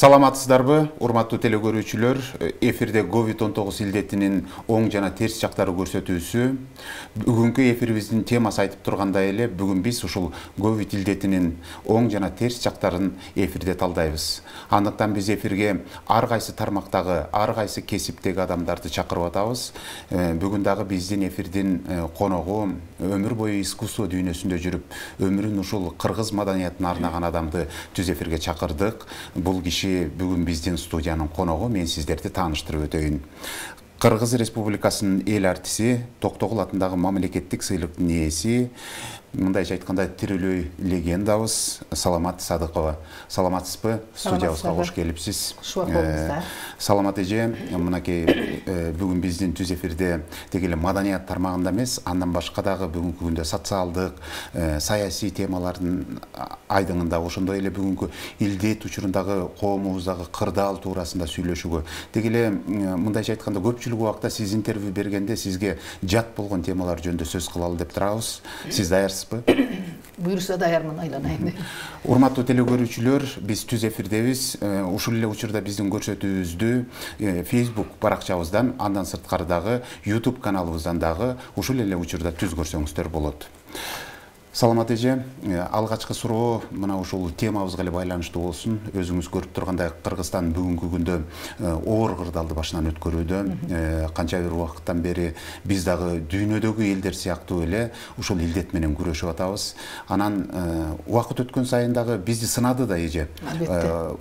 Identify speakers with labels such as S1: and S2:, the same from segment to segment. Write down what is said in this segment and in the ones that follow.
S1: Саламатсыздарбы, урматтуу телекөрүүчүлөр. Эфирде COVID-19 илдетинин оң жана терс жактары көрсөтүүсү. Бүгүнкү эфирибиздин темасы айтып тургандай эле, бүгүн биз ушул COVID илдетинин оң жана терс жактарын эфирде талдайбыз. Андыктан биз эфирге ар кайсы тармактагы, ар кайсы кесиптеги адамдарды чакырып атабыз. Бүгүн дагы биздин эфирдин коногу өмүр бою искусство дүйнөсүндө жүрүп, өмүрүн ушул кыргыз маданиятына арнаган адамды түз эфирге чакырдык. Бул киши бүгүн биздин студиянын коногу, мен сиздерди тааныштырып өтөйүн. Кыргыз Республикасынын эл артиси, Токтогул атындагы мамлекеттик сыйлыктын ээси, мындайча айтканда тирүүлөй легендабыз Саламат Садыкова. Саламатсызбы? Студиябызга кош келипсиз. Саламат эже, мынакей бүгүн биздин түз эфирде тек эле маданият тармагында эмес, андан башка дагы бүгүнкү күндө социалдык, саясий темалардын айдыңында, ошондой эле бүгүнкү илдет учурундагы коомубуздагы кырдаал туурасында сүйлөшүүгө, тек эле мындайча айтканда көпчүлүк убакта сиз интервью бергенде сизге жат болгон темалар жөнүндө сөз кылалы деп турабыз. Сиз даярсызбы?
S2: Буюрса даярмын, айланайын.
S1: Урматтуу телекөрүүчүлөр, биз түз эфирдебиз. Ушул эле учурда биздин көрсөтүүбүздү Facebook баракчабыздан, андан сырткары дагы YouTube каналыбыздан дагы ушул эле учурда түз көрсөңүздөр болот. Саламат эже, алгачкы суроо мына ушул темабызга эле байланыштуу болсун. Өзүңүз көрүп тургандай, Кыргызстан бүгүнкү күндө оор кырдаалды башынан өткөрүүдө. Канча бир убакыттан бери биз дагы дүйнөдөгү элдер сыяктуу эле ушул илдет менен күрөшүп атабыз. Анан убакыт өткөн сайын дагы бизди сынады да эже.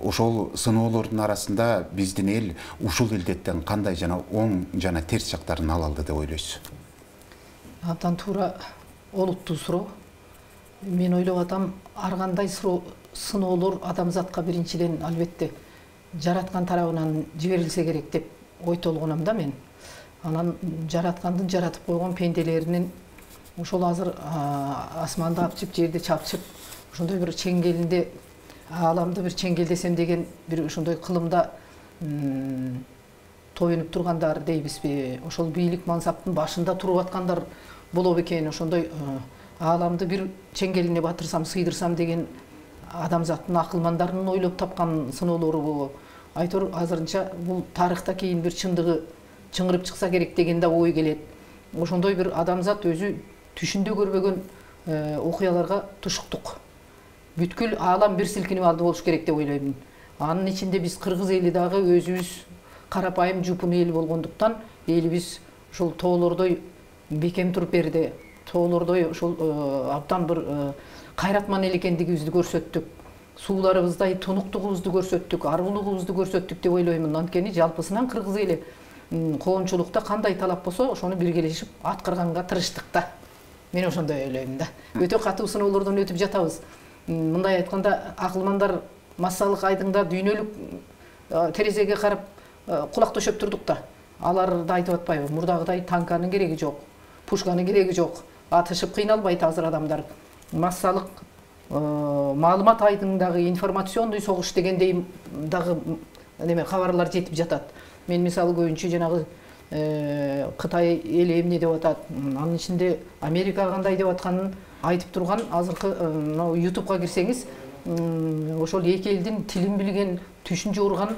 S1: Ошол сыноолордун арасында биздин эл ушул илдеттен кандай жана оң жана терс жактарын ала алды деп ойлойсуз?
S2: Абдан туура, олуттуу суроо. Мен ойлоп атам, ар кандай сыноолор адамзатка биринчиден албетте жараткан тарабынан жиберилсе керек деп ой толгоном да мен. Анан жараткандын жаратып койгон пенделеринин ошол азыр асманды апчып, жерди чапчып, ошондой бир чеңгелинде, ааламды бир чеңгелдесем деген бир ошондой кылымда тоюнуп тургандар дейбизби? Ошол бийлик мансаптын башында туруп аткандар боло бекен, ошондой ааламды бир чеңгелине батырсам, сыйдырсам деген адамзаттын акылмандарынын ойлоп тапкан сыноолору. Айтор азырынча бул тарыхта кийин бир чындыгы чыңырып чыкса керек деген да ой келет. Ошондой бир адамзат өзү түшүндө көрбөгөн окуяларга тушуктук. Бүткүл аалам бир силкинип алды болуш керек деп ойлоймун. Анын ичинде биз кыргыз эли дагы өзүбүз карапайым жупун эл болгондуктан, элибиз ушул тоолордой бекем туруп берди. Тоолордой ошол абдан бир кайратман эл экендигибизди көрсөттүк. Сууларыбыздай тунуктугубузду көрсөттүк, аргулугубузду көрсөттүк деп ойлоймун. Анткени жалпысынан кыргыз эли коомчулукта кандай талап болсо, ошону биргелешип аткарганга тырыштык да. Мен ошондой ойлоймун да. Өтө катуу сыноолордон өтүп жатабыз. Мындай айтканда, акылмандар массалык айдыңда дүйнөлүк терезеге карап кулак төшөп турдук да. Алар да айтып атпайбы, мурдагыдай танканын кереги жок, пушканын кереги жок. Атышып кыйналбайт азыр адамдар. Массалык маалымат айдыңдагы информационный согуш дегендей дагы неме кабарлар жетип жатат. Мен мисалы көбүнчө жанагы Кытай эли эмне деп атат, анын ичинде Америка кандай деп атканын айтып турган азыркы YouTube'га кирсеңиз, ошол эки элдин тилин билген, түшүн жуурган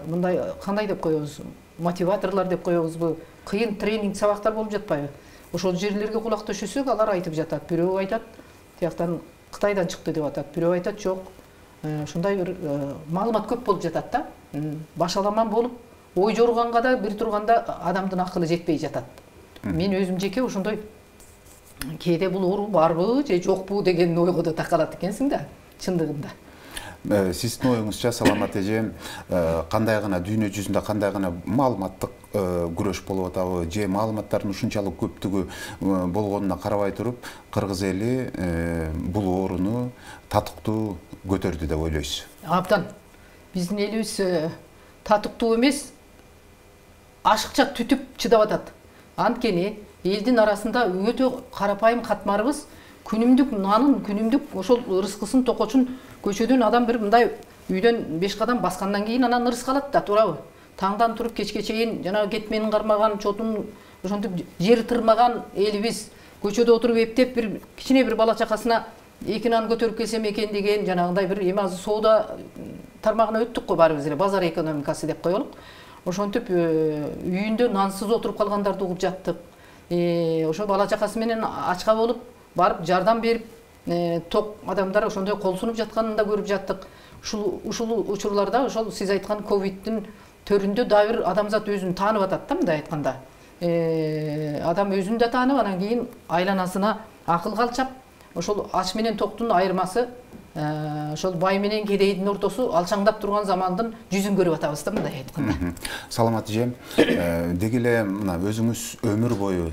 S2: мындай кандай деп коебуз, мотиваторлор деп коебузбу, кыйын тренинг сабактар болуп жатпайбы? Ошол жерлерге кулак төшөсөк, алар айтып жатат. Бирөө айтат, тияктан Кытайдан чыкты деп атат. Бирөө айтат, жок. Ушундай бир маалымат көп болуп жатат да. Башаламан болуп, ой жорганга да бир турганда адамдын акылы жетпей жатат. Мен өзүм жеке ошондой кээде бул оору барбы же жокпу деген ойго да такалат экенсиң да, чындыгында.
S1: Сиздин оюңузча, Саламат эже, кандай гана дүйнө жүзүндө кандай гана маалыматтык күрөш болуп атабы, же маалыматтардын ушунчалык көптүгү болгонуна карабай туруп, кыргыз эли бул ооруну татыктуу көтөрдү деп ойлойсуз?
S2: Абдан. Биздин элибиз татыктуу эмес, ашыкча түтүп чыдап атат. Анткени элдин арасында өтө карапайым катмарыбыз, күнүмдүк нанын, күнүмдүк ошол ырыскысын, токочун көчөдөн адам бир мындай үйдөн 5 кадам баскандан кийин анан ырыска алат да, туурабы? Таңдан туруп кечке чейин жанагы кетменин кармаган, чотун ошентип жер тырмаган элибиз көчөдө отуруп эптеп бир кичине бир бала чакасына эки нан көтөрүп келсем экен деген жанагындай бир эми азыр соода тармагына өттүк го баарыбыз эле, базар экономикасы деп коелук. Ошентип үйүндө нансыз отуруп калгандарды угуп жаттык. Ошо бала чакасы менен ачка болуп барып жардам берип, ток адамдар ошондой кол сунуп жатканын да көрүп жаттык. Ушул учурларда ошол сиз айткан ковидтин төрүндө дагы бир адамзат өзүн таанып атат да, мындай айтканда. Адам өзүн да таанып, анан кийин айланасына акыл калчап, ошол ач менен токтун айырмасы, ошол бай менен кедейдин ортосу алчаңдап турган замандын жүзүн көрүп атабыз да, мындай айтканда.
S1: Саламат эже, деги эле мына өзүңүз өмүр бою,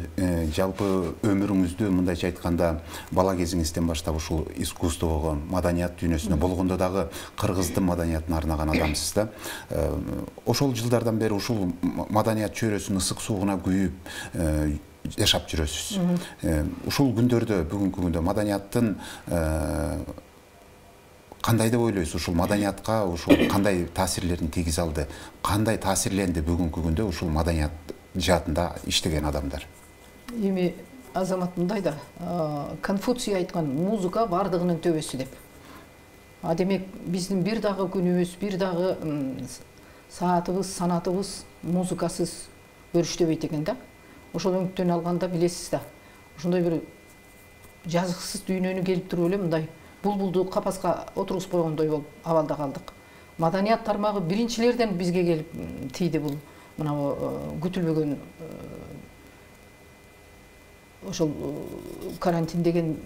S1: жалпы өмүрүңүздү мындайча айтканда бала кезиңизден баштап ушул искусствого, маданият дүйнөсүнө, болгондо дагы кыргыздын маданиятына арнаган адамсыз да. Ошол жылдардан бери ушул маданият чөйрөсүнүн ысык суугуна күйүп жашап жүрөсүз. Ушул күндөрдө, бүгүнкү күндө маданияттын кандай деп ойлойсуз? Ушул маданиятка ушул кандай таасирлерин тийгизе алды? Кандай таасирленди бүгүнкү күндө ушул маданият жаатында иштеген адамдар?
S2: Эми Азамат мындай да, Конфуций айткан музыка бардыгынын төбөсү деп. Демек биздин бир дагы күнүбүз, бир дагы саатыбыз, санатыбыз музыкасыз өрүштөбөйт экен да. Ошол өңүттөн алганда билесиз да. Ошондой бир жазыксыз дүйнөнү келип туруп эле мындай булбулду капаска отургузуп койгондой болуп абалда калдык. Маданият тармагы биринчилерден бизге келип тийди бул мына күтүлбөгөн ошол карантин деген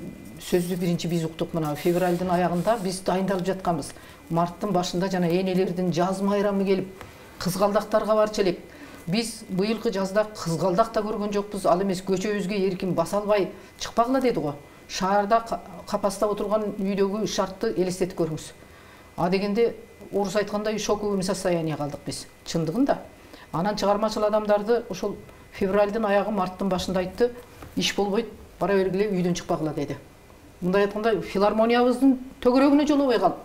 S2: сөздү биринчи биз уктук. Мына февралдын аягында биз дайындалып жатканбыз. Марттын башында жана энелердин жаз майрамы келип, кызгалдактарга барчу элек. Биз быйылкы жазда кызгалдак да көргөн жокпуз, ал эмес көчөбүзгө эркин баса албай чыкпагыла деди го. Шаарда капаста отурган үйдөгү шартты элестетип көрүңүз. Дегенде орус айткандай шоковый состояние калдык биз, чындыгында. Анан чыгармачыл адамдарды ошол февралдын аягы, марттын башында айтты, иш болбойт, бара бергиле, үйдөн чыкпагыла деди. Мындай айтканда филармониябыздын төгөрөгүнө жолобой калып,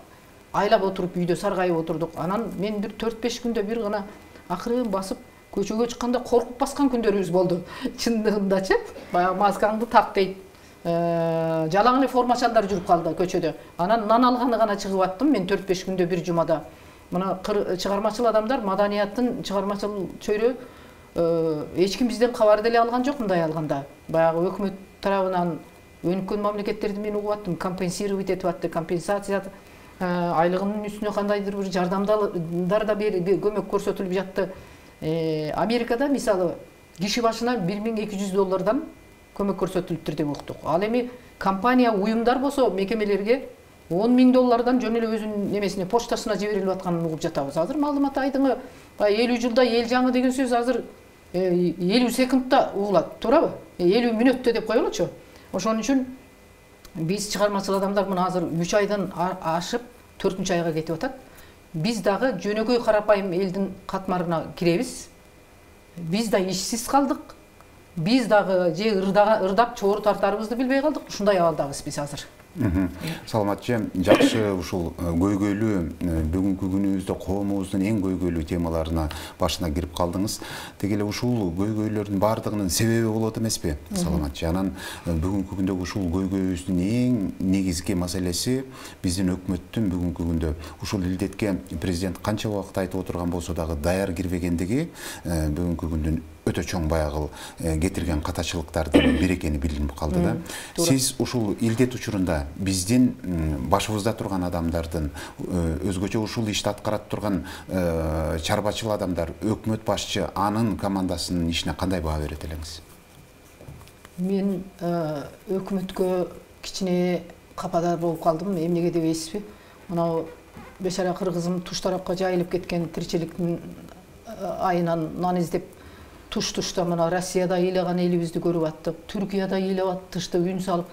S2: айлап отуруп үйдө саргайып отурдук. Анан мен бир 4-5 күндө бир гана акырын басып көчөгө чыкканда коркуп баскан күндөрүбүз болду. Чындыгындачы, баягы маскаңды так дейт. Жалаң эле формачалдар жүрүп калды көчөдө. Анан нан алганы гана чыгып аттым мен 4-5 күндө бир жумада. Мына чыгармачыл адамдар, маданияттын чыгармачыл чөйрө эч ким бизден кабар деле алган жок мындай алганда. Баягы өкмөт тарабынан өнүккөн мамлекеттерди мен угуп аттым, компенсировать этип атты, компенсация айлыгынын үстүнө кандайдыр бир жардамдар да көмөк көрсөтүлүп жатты. Америкада мисалы киши башына $1200 көмөк көрсөтүлүптүр деп уктук. Ал эми компания, уюмдар болсо мекемелерге $10,000 жөн эле өзүнүн немесине, почтасына жиберилип атканын угуп жатабыз. Азыр маалымат айдыңы 50 жылда эл жаңы деген сөз азыр 50 секундта угулат, туурабы? 50 мүнөттө деп коелучу. Ошон үчүн биз чыгармачыл адамдар мына азыр 3 айдан ашып 4-чү айга кетип атат. Биз дагы жөнөкөй карапайым элдин катмарына киребиз. Биз да ишсиз калдык. Биз дагы же ырдап чоор тартарыбызды билбей калдык. Ушундай абалдабыз биз азыр.
S1: Саламат же, жакшы ушул көйгөйлүү бүгүнкү күнүбүздө коомубуздун эң көйгөйлүү темаларына башына кирип калдыңыз. Деги эле ушул көйгөйлөрдүн бардыгынын себеби болот эмеспи? Саламат же, анан бүгүнкү күндө ушул көйгөйүбүздүн эң негизги маселеси биздин өкмөттүн бүгүнкү күндө ушул илдетке президент канча убакыт айтып отурган болсо дагы даяр кирбегендиги бүгүнкү күндүн өтө чоң баягы кетирген катачылыктардын бири экени билинип калды да. Сиз ушул илдет учурунда биздин башыбызда турган адамдардын, өзгөчө ушул ишти аткарат турган чарбачыл адамдар, өкмөт башчы, анын командасынын ишине кандай баа берет элеңиз?
S2: Мен өкмөткө кичине кападар болуп калдым, эмнеге дебейсизби? Мына бешара кыргызым туш тарапка жайылып кеткен, тиричиликтин айынан нан издеп туш-тушта мына Россияда ыйлаган элибизди көрүп аттык, Түркияда ыйлап аттышты, үн салып,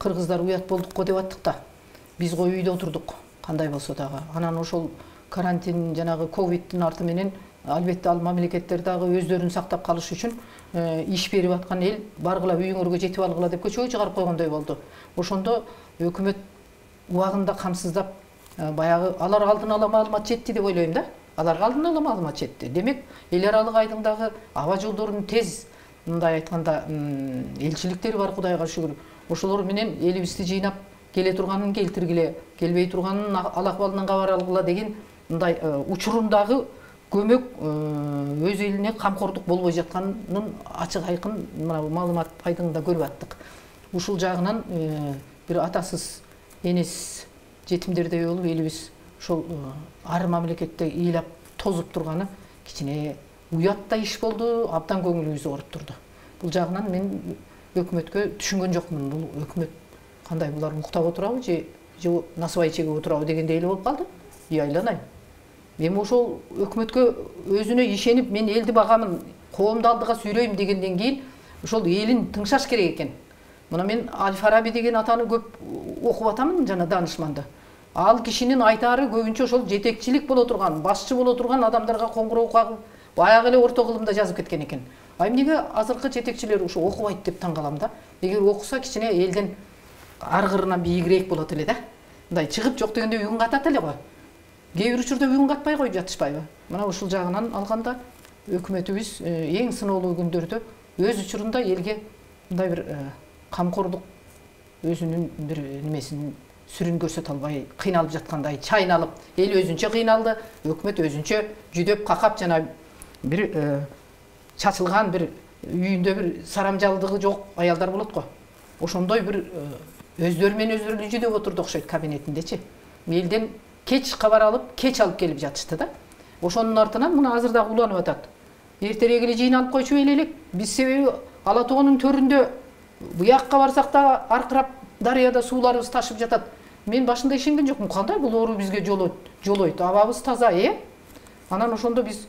S2: кыргыздар уят болдук го деп аттык да. Биз го үйдө отурдук, кандай болсо дагы. Анан ошол карантин жанагы ковидтин арты менен албетте ал мамлекеттер дагы өздөрүн сактап калыш үчүн иш берип аткан эл баргыла үйүңөргө жетип алгыла деп көчөгө чыгарып койгондой болду. Ошондо өкмөт убагында камсыздап баягы алар алдын ала маалымат жетти деп ойлойм да. Аларга алдын ала маалымат жетти. Демек, эл аралык айдыңдагы аба жолдорунун тез, мындай айтканда, элчиликтери бар, Кудайга шүгүр. Ошолор менен элибизди жыйнап келе турганын келтиргиле, келбей турганын ал акыбалынан кабар алгыла деген мындай учурундагы көмөк өз элине камкордук болбой жатканын ачык айкын мына маалымат пайдыңда көрүп аттык. Ушул жагынан бир атасыз энесиз жетимдердей болуп элибиз ошол ар мамлекетте ыйлап тозуп турганы кичине уяттай иш болду, абдан көңүлүбүз ооруп турду. Бул жагынан мен өкмөткө түшүнгөн жокмун. Бул өкмөт кандай, булар уктап отурабы же насыбай чегип отурабы дегендей эле болуп калды. Айланайм. Эми ошол өкмөткө өзүнө ишенип, мен элди багамын, коомду алдыга сүйрөйм дегенден кийин ошол элин тыңшаш керек экен. Мына мен Аль-Фараби деген атаны көп окуп атамын, жана данышманды. Ал кишинин айтаары көбүнчө ошол жетекчилик боло турган, башчы боло турган адамдарга коңгуроо кагып, баягы эле орто кылымда жазып кеткен экен. Эмнеге азыркы жетекчилер ушу окубайт деп таң калам да. Эгер окуса кичине элден аргырынан бийигирээк болот эле да. Мындай чыгып жок дегенде үйүн катат эле го. Кээ бир учурда үйүн катпай коюп жатышпайбы? Мына ушул жагынан алганда өкмөтүбүз эң сыноолуу күндөрдө өз учурунда элге мындай бир камкордук өзүнүн бир немесин сүрүн көрсөтө албай кыйналып жаткандай чайналып, эл өзүнчө кыйналды, өкмөт өзүнчө жүдөп какап жана бир чачылган бир үйүндө бир сарамжалдыгы жок аялдар болот го. Ошондой бир өздөрү менен өздөрү жүдөп отурду окшойт кабинетиндечи. Элден кеч кабар алып, кеч алып келип жатышты да. Ошонун артынан мына азыр дагы уланып атат. Эртерээк эле жыйналып койчу элек. Биз себеби Ала тоонун төрүндө буякка барсак да аркырап дарыяда сууларыбыз ташып жатат. Мен башында ишенген жокмун. Кандай бул оору бизге жолойт? Абабыз таза, Анан ошондо биз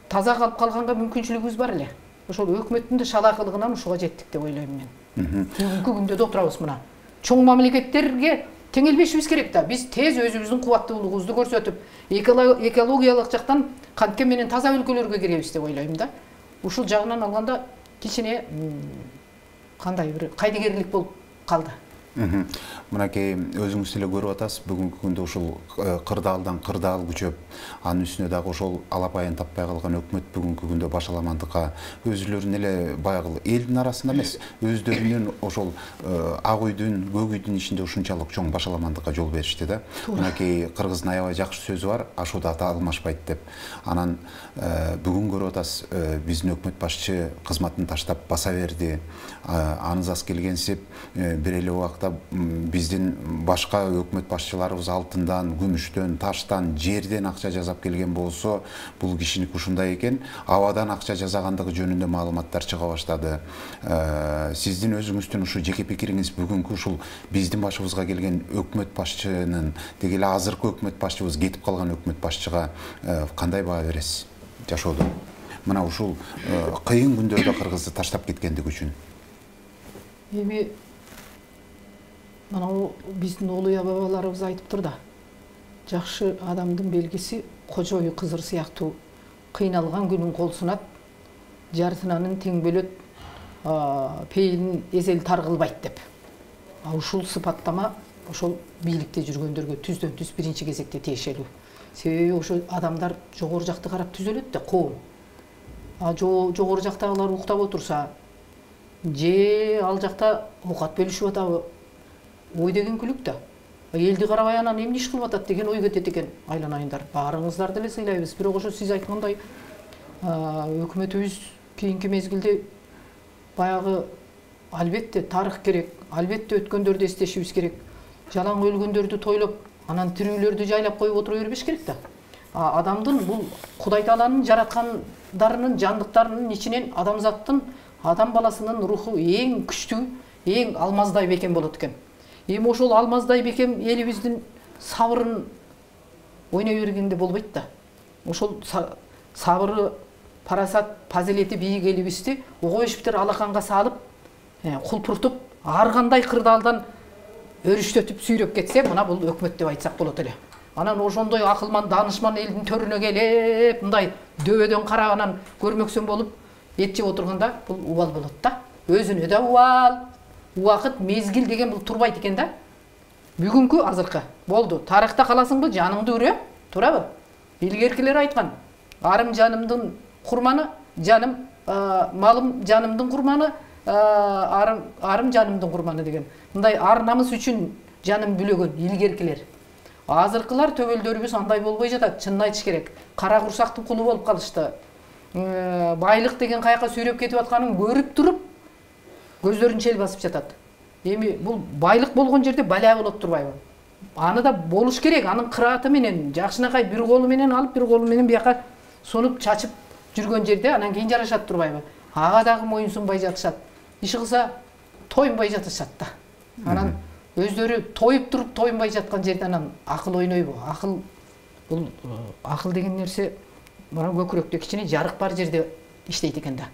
S2: таза калып калганга мүмкүнчүлүгүбүз бар эле. Ошол өкмөттүн да шалаакылыгынан ушуга жеттик деп ойлойм мен. Бүгүнкү күндө да отурабыз мына. Чоң мамлекеттерге теңелбешибиз керек да. Биз тез өзүбүздүн кубаттуулугубузду көрсөтүп, экологиялык жактан кантке менен таза өлкөлөргө киребиз деп ойлойм да. Ушул жагынан алганда кичине кандай бир кайдыгерлик болуп калды.
S1: Мынакей өзүңүз эле көрүп атасыз, бүгүнкү күндө ушул кырдаалдан кырдаал күчөп, анын үстүнө дагы ошол алапайын таппай калган өкмөт бүгүнкү күндө башаламандыкка өзүлөрүнүн эле баягы элдин арасында эмес, өздөрүнүн ошол ак үйдүн, көк үйдүн ичинде ушунчалык чоң башаламандыкка жол беришти да. Мынакей кыргыздын аябай жакшы сөзү бар, ашууда ата алмашпайт деп. Анан бүгүн көрүп атасыз, биздин өкмөт башчы кызматын таштап баса берди. Аныз аз келгенсип бир эле убакта биздин башка өкмөт башчыларыбыз алтындан, күмүштөн, таштан, жерден акча жасап келген болсо, бул кишиники ушундай экен, абадан акча жасагандыгы жөнүндө маалыматтар чыга баштады. Сиздин өзүңүздүн ушу жеке пикириңиз бүгүнкү ушул биздин башыбызга келген өкмөт башчынын, деги эле азыркы өкмөт башчыбыз кетип калган өкмөт башчыга кандай баа бересиз жашоодо? Мына ушул кыйын күндөрдө Кыргызды таштап кеткендиги үчүн.
S2: Эми мына биздин олуя бабаларыбыз айтыптыр да. Жакшы адамдын белгиси кожой кызыр сыяктуу кыйналган күнүн кол сунат, жартынанын тең бөлөт, пейилин эзел тар кылбайт деп. Ушул сыпаттама ошол бийликте жүргөндөргө түздөн түз биринчи кезекте тиешелүү. Себеби ошол адамдар жогору жакты карап түзөлөт да, коом. Жогору жактагылар уктап отурса, же ал жакта оокат бөлүшүп атабы, ой деген күлүк да. Элди карабай анан эмне иш кылып атат деген ой кетет экен. Айланайындар, баарыңыздарды эле сыйлайбыз. Бирок ошо сиз айткандай өкмөтүбүз кийинки мезгилде баягы албетте тарых керек, албетте өткөндөрдү эстешибиз керек. Жалаң өлгөндөрдү тойлоп, анан тирүүлөрдү жайлап коюп отура бербеш керек да. Адамдын бул Кудай Тааланын жараткандарынын, жандыктарынын ичинен адамзаттын, адам баласынын руху эң күчтүү, эң алмаздай бекем болот экен. Эми ошол алмаздай бекем элибиздин сабырын ойной бергенде болбойт да. Ошол сабыры, парасат, фазилети бийик элибизди огобештер алаканга салып, кулпуртуп, ар кандай кырдаалдан өрүштөтүп сүйрөп кетсе, мына бул өкмөт деп айтсак болот эле. Анан ошондой акылман, данышман элдин төрүнө келип, мындай дөбөдөн карап анан көрмөксөн болуп эт жеп отурганда бул убал болот да. Өзүнө да убал. Убакыт, мезгил деген бул турбайт экен да. Бүгүнкү азыркы болду. Тарыхта каласыңбы, жаныңды үрө, турабы? Илгеркилер айткан. Арым жанымдын курманы, жаным малым жанымдын курманы, арым жанымдын курманы деген. Мындай ар намыс үчүн жанын бүлөгөн илгеркилер. Азыркылар төбөлдөрүбүз андай болбой жатат, чынын айтыш керек. Кара курсактын кулу болуп калышты. Байлык деген каяка сүйрөп кетип атканын көрүп туруп, көздөрүн чел басып жатат. Эми бул байлык болгон жерде бала болот турбайбы? Аны да болуш керек, анын кырааты менен, жакшынакай бир колу менен алып, бир колу менен бияка сонуп чачып жүргөн жерде анан кийин жарашат турбайбы? Ага дагы моюнсунбай жатышат. Иши кылса тойунбай жатышат да. Анан өздөрү тоюп туруп тойунбай жаткан жерде анан акыл ойнойбу? Акыл деген нерсе мына көкүрөктө кичине жарык бар жерде иштейт экен да.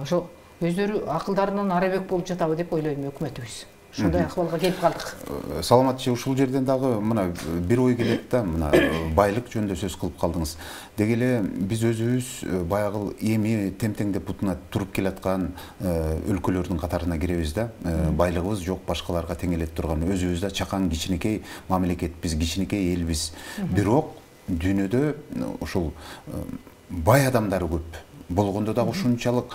S2: Ошо өздөрү акылдарынан арабек болуп жатабы деп ойлойм өкмөтүбүз. Ушундай акыбалга келип калдык.
S1: Саламатчы, ушул жерден дагы мына бир ой келет да, мына байлык жөнүндө сөз кылып калдыңыз. Деги эле биз өзүбүз баягы эми темтеңдеп бутуна туруп келаткан өлкөлөрдүн катарына киребиз да. Байлыгыбыз жок, башкаларга теңелет турган, өзүбүз да чакан кичинекей мамлекетпиз, кичинекей элбиз. Бирок дүйнөдө ушул бай адамдар көп. Болгондо да ушунчалык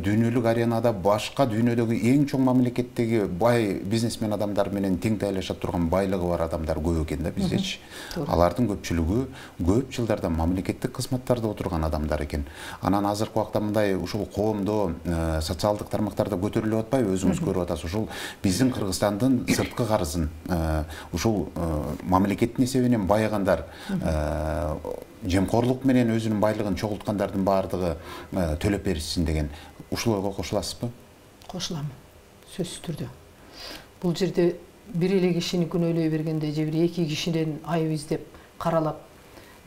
S1: дүйнөлүк аренада башка дүйнөдөгү эң чоң мамлекеттеги бай бизнесмен адамдар менен тең тайлаша турган байлыгы бар адамдар көп экен да биздечи. Алардын көпчүлүгү көп жылдардан мамлекеттик кызматтарда отурган адамдар экен. Анан азыркы убакта мындай ушул коомдо социалдык тармактарда көтөрүлүп атпайбы, өзүңүз көрүп атасыз. Ушул биздин Кыргызстандын сырткы карызын ушул мамлекеттин эсебинен байыгандар, жемкорлук менен өзүнүн байлыгын чогулткандардын баардыгы төлөп беришсин деген. Ушул ойго кошуласызбы?
S2: Кошулам, сөзсүз түрдө. Бул жерде бир эле кишини күнөөлөй бергенде же бир эки кишиден айып издеп каралап,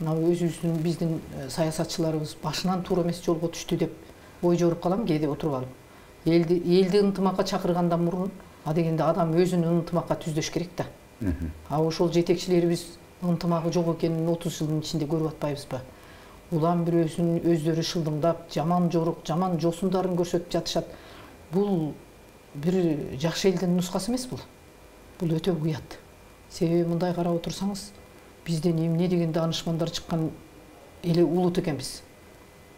S2: мына өзүбүздүн биздин саясатчыларыбыз башынан туура эмес жолго түштү деп ой жоруп калам кээде отуруп алып. Элди ынтымакка чакыргандан мурун адегенде адам өзүн ынтымакка түздөш керек да. Ошол жетекчилерибиз ынтымагы жок экенин 30 жылдын ичинде көрүп атпайбызбы? Улам бирөөсүн өздөрү шылдыңдап, жаман жорук, жаман жосундарын көрсөтүп жатышат. Бул бир жакшы элдин нускасы эмес бул. Бул өтө уят. Себеби мындай карап отурсаңыз, бизден эмне деген данышмандар чыккан эле улут экенбиз.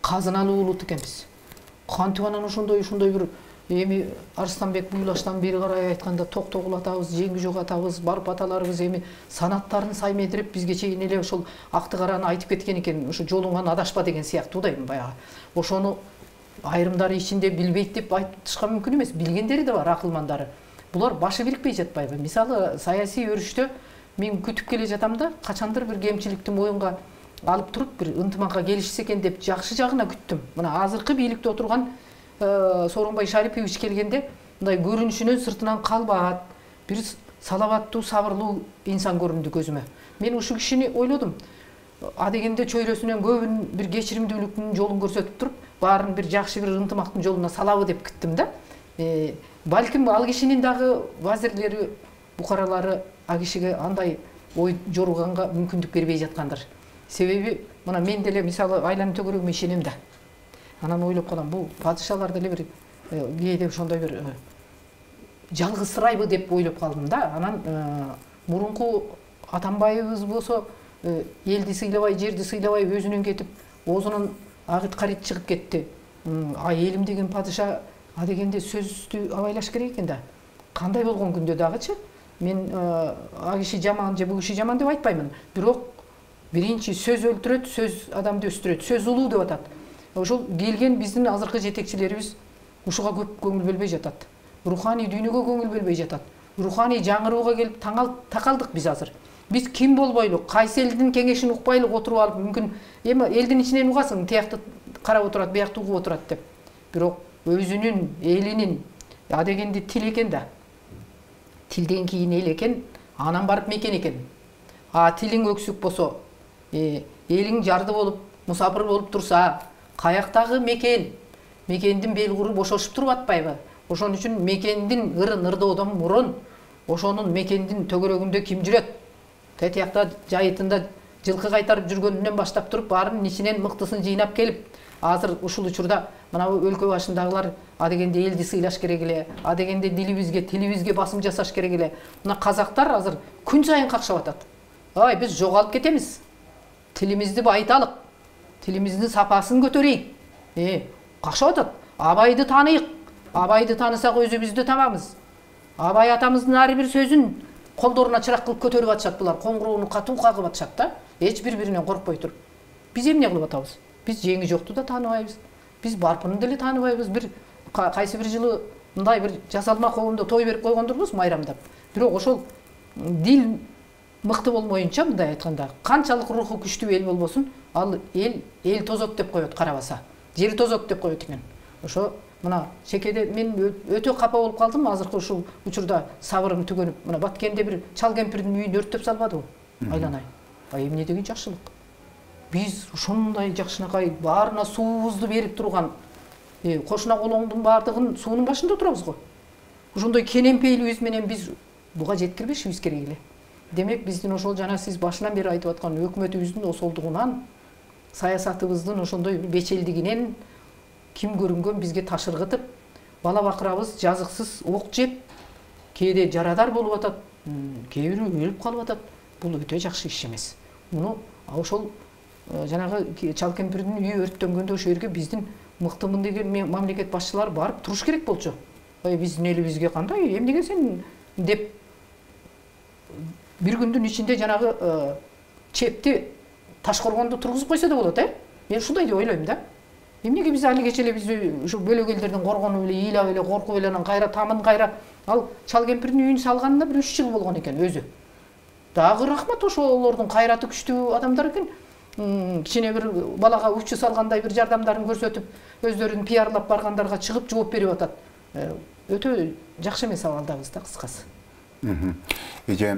S2: Казыналуу улут экенбиз. Кантип анан ошондой бир эми Арыстанбек Буйлаштан бери карай айтканда токтогул атабыз, жеңги жок атабыз, барып аталарыбыз эми санаттарын саймедирип бизге чейин эле ошол акты караны айтып кеткен экен. Ошо жолуңан адашпа деген сыяктуу да эми баягы. Ошону айрымдары ичинде билбейт деп айтышка мүмкүн эмес. Билгендери да бар, акылмандары. Булар башы бирикпей жатпайбы? Мисалы, саясий өрүштө мен күтүп келе жатам да, качандыр бир кемчиликти моюнга алып туруп бир ынтымакка келишсе экен деп жакшы жагына күттүм. Мына азыркы бийликте отурган Сооронбай Шарипович келгенде мындай көрүнүшүнөн сыртынан калбаат, бир салабаттуу, сабырлуу инсан көрүндү көзүмө. Мен ушул кишини ойлодум. Адегенде чөйрөсүнөн көбүн бир кечиримдүүлүктүн жолун көрсөтүп туруп, баарын бир жакшы бир ынтымактын жолуна салабы деп күттүм да. Балким ал кишинин дагы вазирлери, букаралары а кишиге андай ой жоруганга мүмкүндүк бербей жаткандыр. Себеби мына мен деле мисалы айланып төгөрөгүмө ишенем да. Анан ойлоп калам, бул падышалар деле бир кээде ошондой бир жалгызсырайбы деп ойлоп калдым да. Анан мурунку Атамбаевыбыз болсо элди сыйлабай, жерди сыйлабай өзүнөн кетип, оозунан агыт карит чыгып кетти. Элим деген падыша адегенде сөздү абайлаш керек экен да. Кандай болгон күндө дагычы мен а киши жаман же бул киши жаман деп айтпаймын. Бирок биринчи сөз өлтүрөт, сөз адамды өстүрөт, сөз улуу деп атат. Ошол келген биздин азыркы жетекчилерибиз ушуга көп көңүл бөлбөй жатат. Руханий дүйнөгө көңүл бөлбөй жатат. Руханий жаңырууга келип такалдык биз азыр. Биз ким болбойлу, кайсы элдин кеңешин укпайлык отуруп алып, мүмкүн эми элдин ичинен угасың, тиякты карап отурат, биякты угуп отурат деп. Бирок өзүнүн элинин адегенде тил экен да. Тилден кийин эл экен, анан барып мекен экен. Тилиң өксүк болсо, элиң жарды болуп, мусапыр болуп турса, каяктагы мекен, мекендин белгуру бошошуп туруп атпайбы? Ошон үчүн мекендин ырын ырдоодон мурун ошонун мекендин төгөрөгүндө ким жүрөт? Тетиякта жайытында жылкы кайтарып жүргөнүнөн баштап туруп, баарынын ичинен мыктысын жыйнап келип, азыр ушул учурда мына өлкө башындагылар адегенде элди сыйлаш керек эле, адегенде дилибизге, тилибизге басым жасаш керек эле. Мына казактар азыр күн сайын какшап атат. Биз жоголуп кетемиз. Тилимизди байыталык. Тилимиздин сапасын көтөрөйүк. Какшап атат. Абайды таныйык. Абайды танысак өзүбүздү табамыз. Абай атамыздын ар бир сөзүн колдоруна чырак кылып көтөрүп атышат булар, коңгуроону катуу кагып атышат да, эч бири-биринен коркпой туруп. Биз эмне кылып атабыз? Биз жеңи жокту да тааныбайбыз. Биз барпыны деле тааныбайбыз. Бир кайсы бир жылы мындай бир жасалма коомдо той берип койгондурбуз майрамдап. Бирок ошол дил мыкты болмоюнча, мындай айтканда, канчалык руху күчтүү эл болбосун, ал эл тозот деп коет карабаса. Жери тозот деп коет экен. Ошо мына чекеде мен өтө капа болуп калдым азыркы ушул учурда, сабырым түгөнүп. Мына Баткенде бир чал кемпирдин үйүн өрттөп салбадыбы? Айланай. Эмне деген жакшылык. Биз ушундай жакшынакай баарына суубузду берип турган, кошуна колоңдун баардыгын суунун башында турабыз го. Ошондой кенемпейлигибиз менен биз буга жеткирбешибиз керек эле. Демек биздин ошол жана сиз башынан бери айтып аткан өкмөтүбүздүн осолдугунан, саясатыбыздын ошондой бечелдигинен ким көрүнгөн бизге ташыргытып, бала бакырабыз жазыксыз ок жеп, кээде жарадар болуп атат, кээ бири өлүп калып атат. Бул өтө жакшы иш эмес. Муну ошол жанагы чал кемпирдин үйү өрттөнгөндө ошол жерге биздин мыктымын деген мамлекет башчылары барып туруш керек болчу. Биздин элибизге кандай, эмнеге сен деп бир күндүн ичинде жанагы чепти Ташкоргондо тургузуп койсо да болот, Мен ушундай деп ойлойм да. Эмнеге биз алигече эле биз ушу бөлөк элдерден коргонуп эле, ыйлап эле, коркуп эле, анан кайра тамын кайра ал чал кемпирдин үйүн салганына бир 3 жыл болгон экен өзү. Дагы рахмат, ошолордун кайраты күчтүү адамдар экен. Кичине бир балага учу салгандай бир жардамдарын көрсөтүп, өздөрүн пиарлап баргандарга чыгып жооп берип атат. Өтө жакшы эмес абалдабыз да, кыскасы.
S1: Эже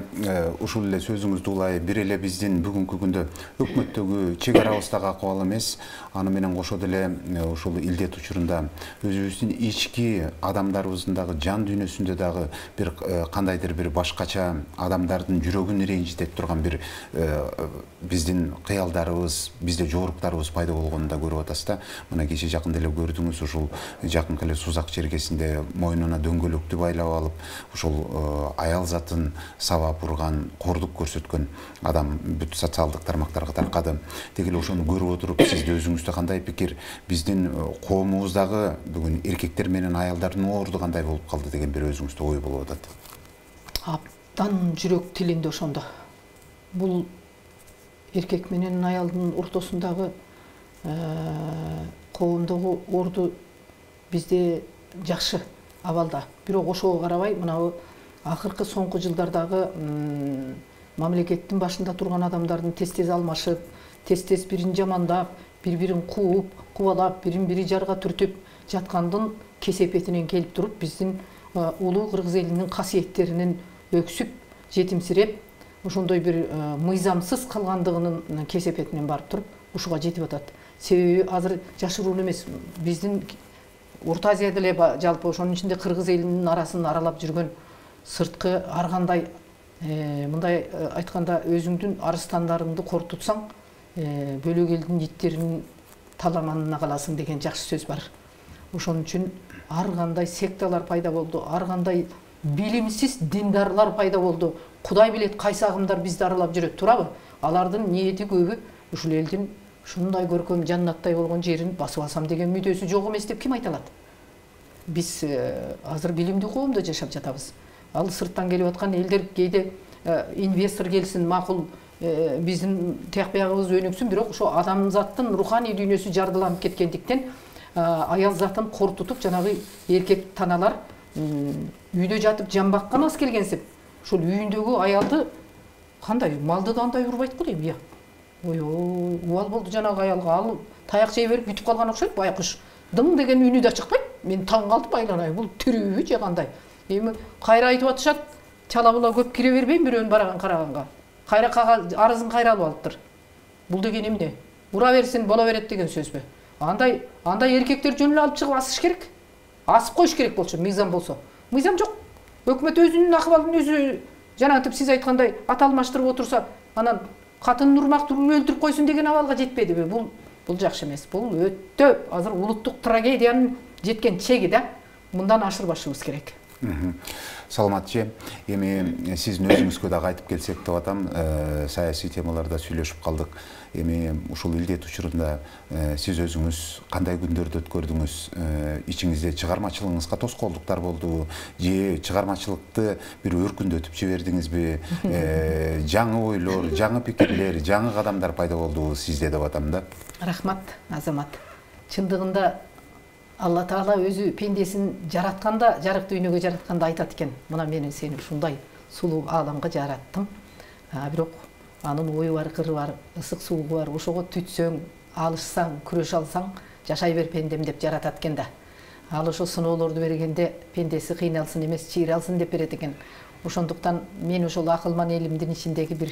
S1: ушул эле сөзүңүздү улай бир эле биздин бүгүнкү күндө өкмөттөгү чек арабыздагы акыбал эмес, аны менен кошо деле ушул илдет учурунда өзүбүздүн ички адамдарыбыздын дагы жан дүйнөсүндө дагы бир кандайдыр бир башкача адамдардын жүрөгүн ренжитип турган бир биздин кыялдарыбыз, бизде жооруктарыбыз пайда болгонун да көрүп атасыз да. Мына кече жакында эле көрдүңүз, ушул жакынкы эле Сузак чергесинде мойнуна дөңгөлөктү байлап алып, ушул аял затын сабап урган, кордук көрсөткөн адам бүт социалдык тармактарга таркады. Деги эле ошону көрүп отуруп, сиз өзүңүздө кандай пикир? Биздин коомубуздагы бүгүн эркектер менен аялдардын орду кандай болуп калды деген бир өзүңүздө ой болуп атат.
S2: Абдан жүрөк тилинде ошондо. Бул эркек менен аялдын ортосундагы коомдогу орду бизде жакшы абалда. Бирок ошого карабай, мына акыркы соңку жылдардагы мамлекеттин башында турган адамдардын тез-тез алмашып, тез-тез бирин жамандап, бири-бирин кууп, кубалап, бирин-бири жарга түртүп жаткандын кесепетинен келип туруп, биздин улуу кыргыз элинин касиеттеринин өксүп, жетимсиреп, ошондой бир мыйзамсыз калгандыгынын кесепетинен барып туруп, ушуга жетип атат. Себеби азыр жашыруун эмес, биздин Орто Азияда эле жалпы ошонун ичинде кыргыз элинин арасын аралап жүргөн сырткы ар кандай мындай айтканда өзүңдүн арыстандарыңды кортутсаң, бөлөк элдин иттеринин таламанына каласың деген жакшы сөз бар. Ошон үчүн ар кандай секталар пайда болду, ар кандай билимсиз диндарлар пайда болду. Кудай билет кайсы агымдар бизди аралап жүрөт, турабы? Алардын ниети көбү ушул элдин ушундай көркөм жаннаттай болгон жерин басып алсам деген мүдөөсү жок эмес деп ким айта алат? Биз азыр билимдүү коомдо жашап жатабыз. Ал сырттан келип аткан элдер кээде инвестор келсин, макул биздин тияк биягыбыз өнүксүн, бирок ошо адамзаттын руханий дүйнөсү жардыланып кеткендиктен аял затын кортутуп, жанагы эркек таналар үйдө жатып жамбакка мас келгенсип, ошол үйүндөгү аялды кандай малды да андай урбайт го дейм, ой, убал болду жанагы аялга, ал таяк жей берип бүтүп калган окшойт, байкуш. Дың деген үнү да чыкпайт. Мен таң калдым, айланай, бул тирүүбү же кандай? Эми кайра айтып атышат, чала була көп кире бербейм бирөөнүн бараган караганга. Кайра арызын кайра алып алыптыр. Бул деген эмне? Ура берсин, боло берет деген сөзбү? Андай эркектер жөн эле алып чыгып асыш керек. Асып коюш керек болчу, мыйзам болсо. Мыйзам жок. Өкмөт өзүнүн акыбалын өзү жанагынтип сиз айткандай аталмаштырып отурса, анан катынын урмак өлтүрүп койсун деген абалга жетпедиби? Бул жакшы эмес. Бул өтө азыр улуттук трагедиянын жеткен чеги да. Мындан ашырбашыбыз керек.
S1: Саламатчы, эми сиздин өзүңүзгө дагы айтып келсек деп атам, саясий темаларда сүйлөшүп калдык. Эми ушул илдет учурунда сиз өзүңүз кандай күндөрдү өткөрдүңүз? Ичиңизде чыгармачылыгыңызга тоскоолдуктар болдубу? Же чыгармачылыкты бир өркүндөтүп жибердиңизби? Жаңы ойлор, жаңы пикирлер, жаңы кадамдар пайда болдубу сизде деп атам да.
S2: Рахмат, Азамат. Чындыгында Алла Таала өзү пендесин жаратканда, жарык дүйнөгө жаратканда айтат экен: "Мына мен сени ушундай сулуу ааламга жараттым. Бирок анын ою бар, кыры бар, ысык суугу бар. Ошого түтсөң, алышсаң, күрөшө алсаң, жашай бер пендем" деп жаратат экен да. Ал ошо сыноолорду бергенде пендеси кыйналсын эмес, чыйралсын деп берет экен. Ошондуктан мен ошол акылман элимдин ичиндеги бир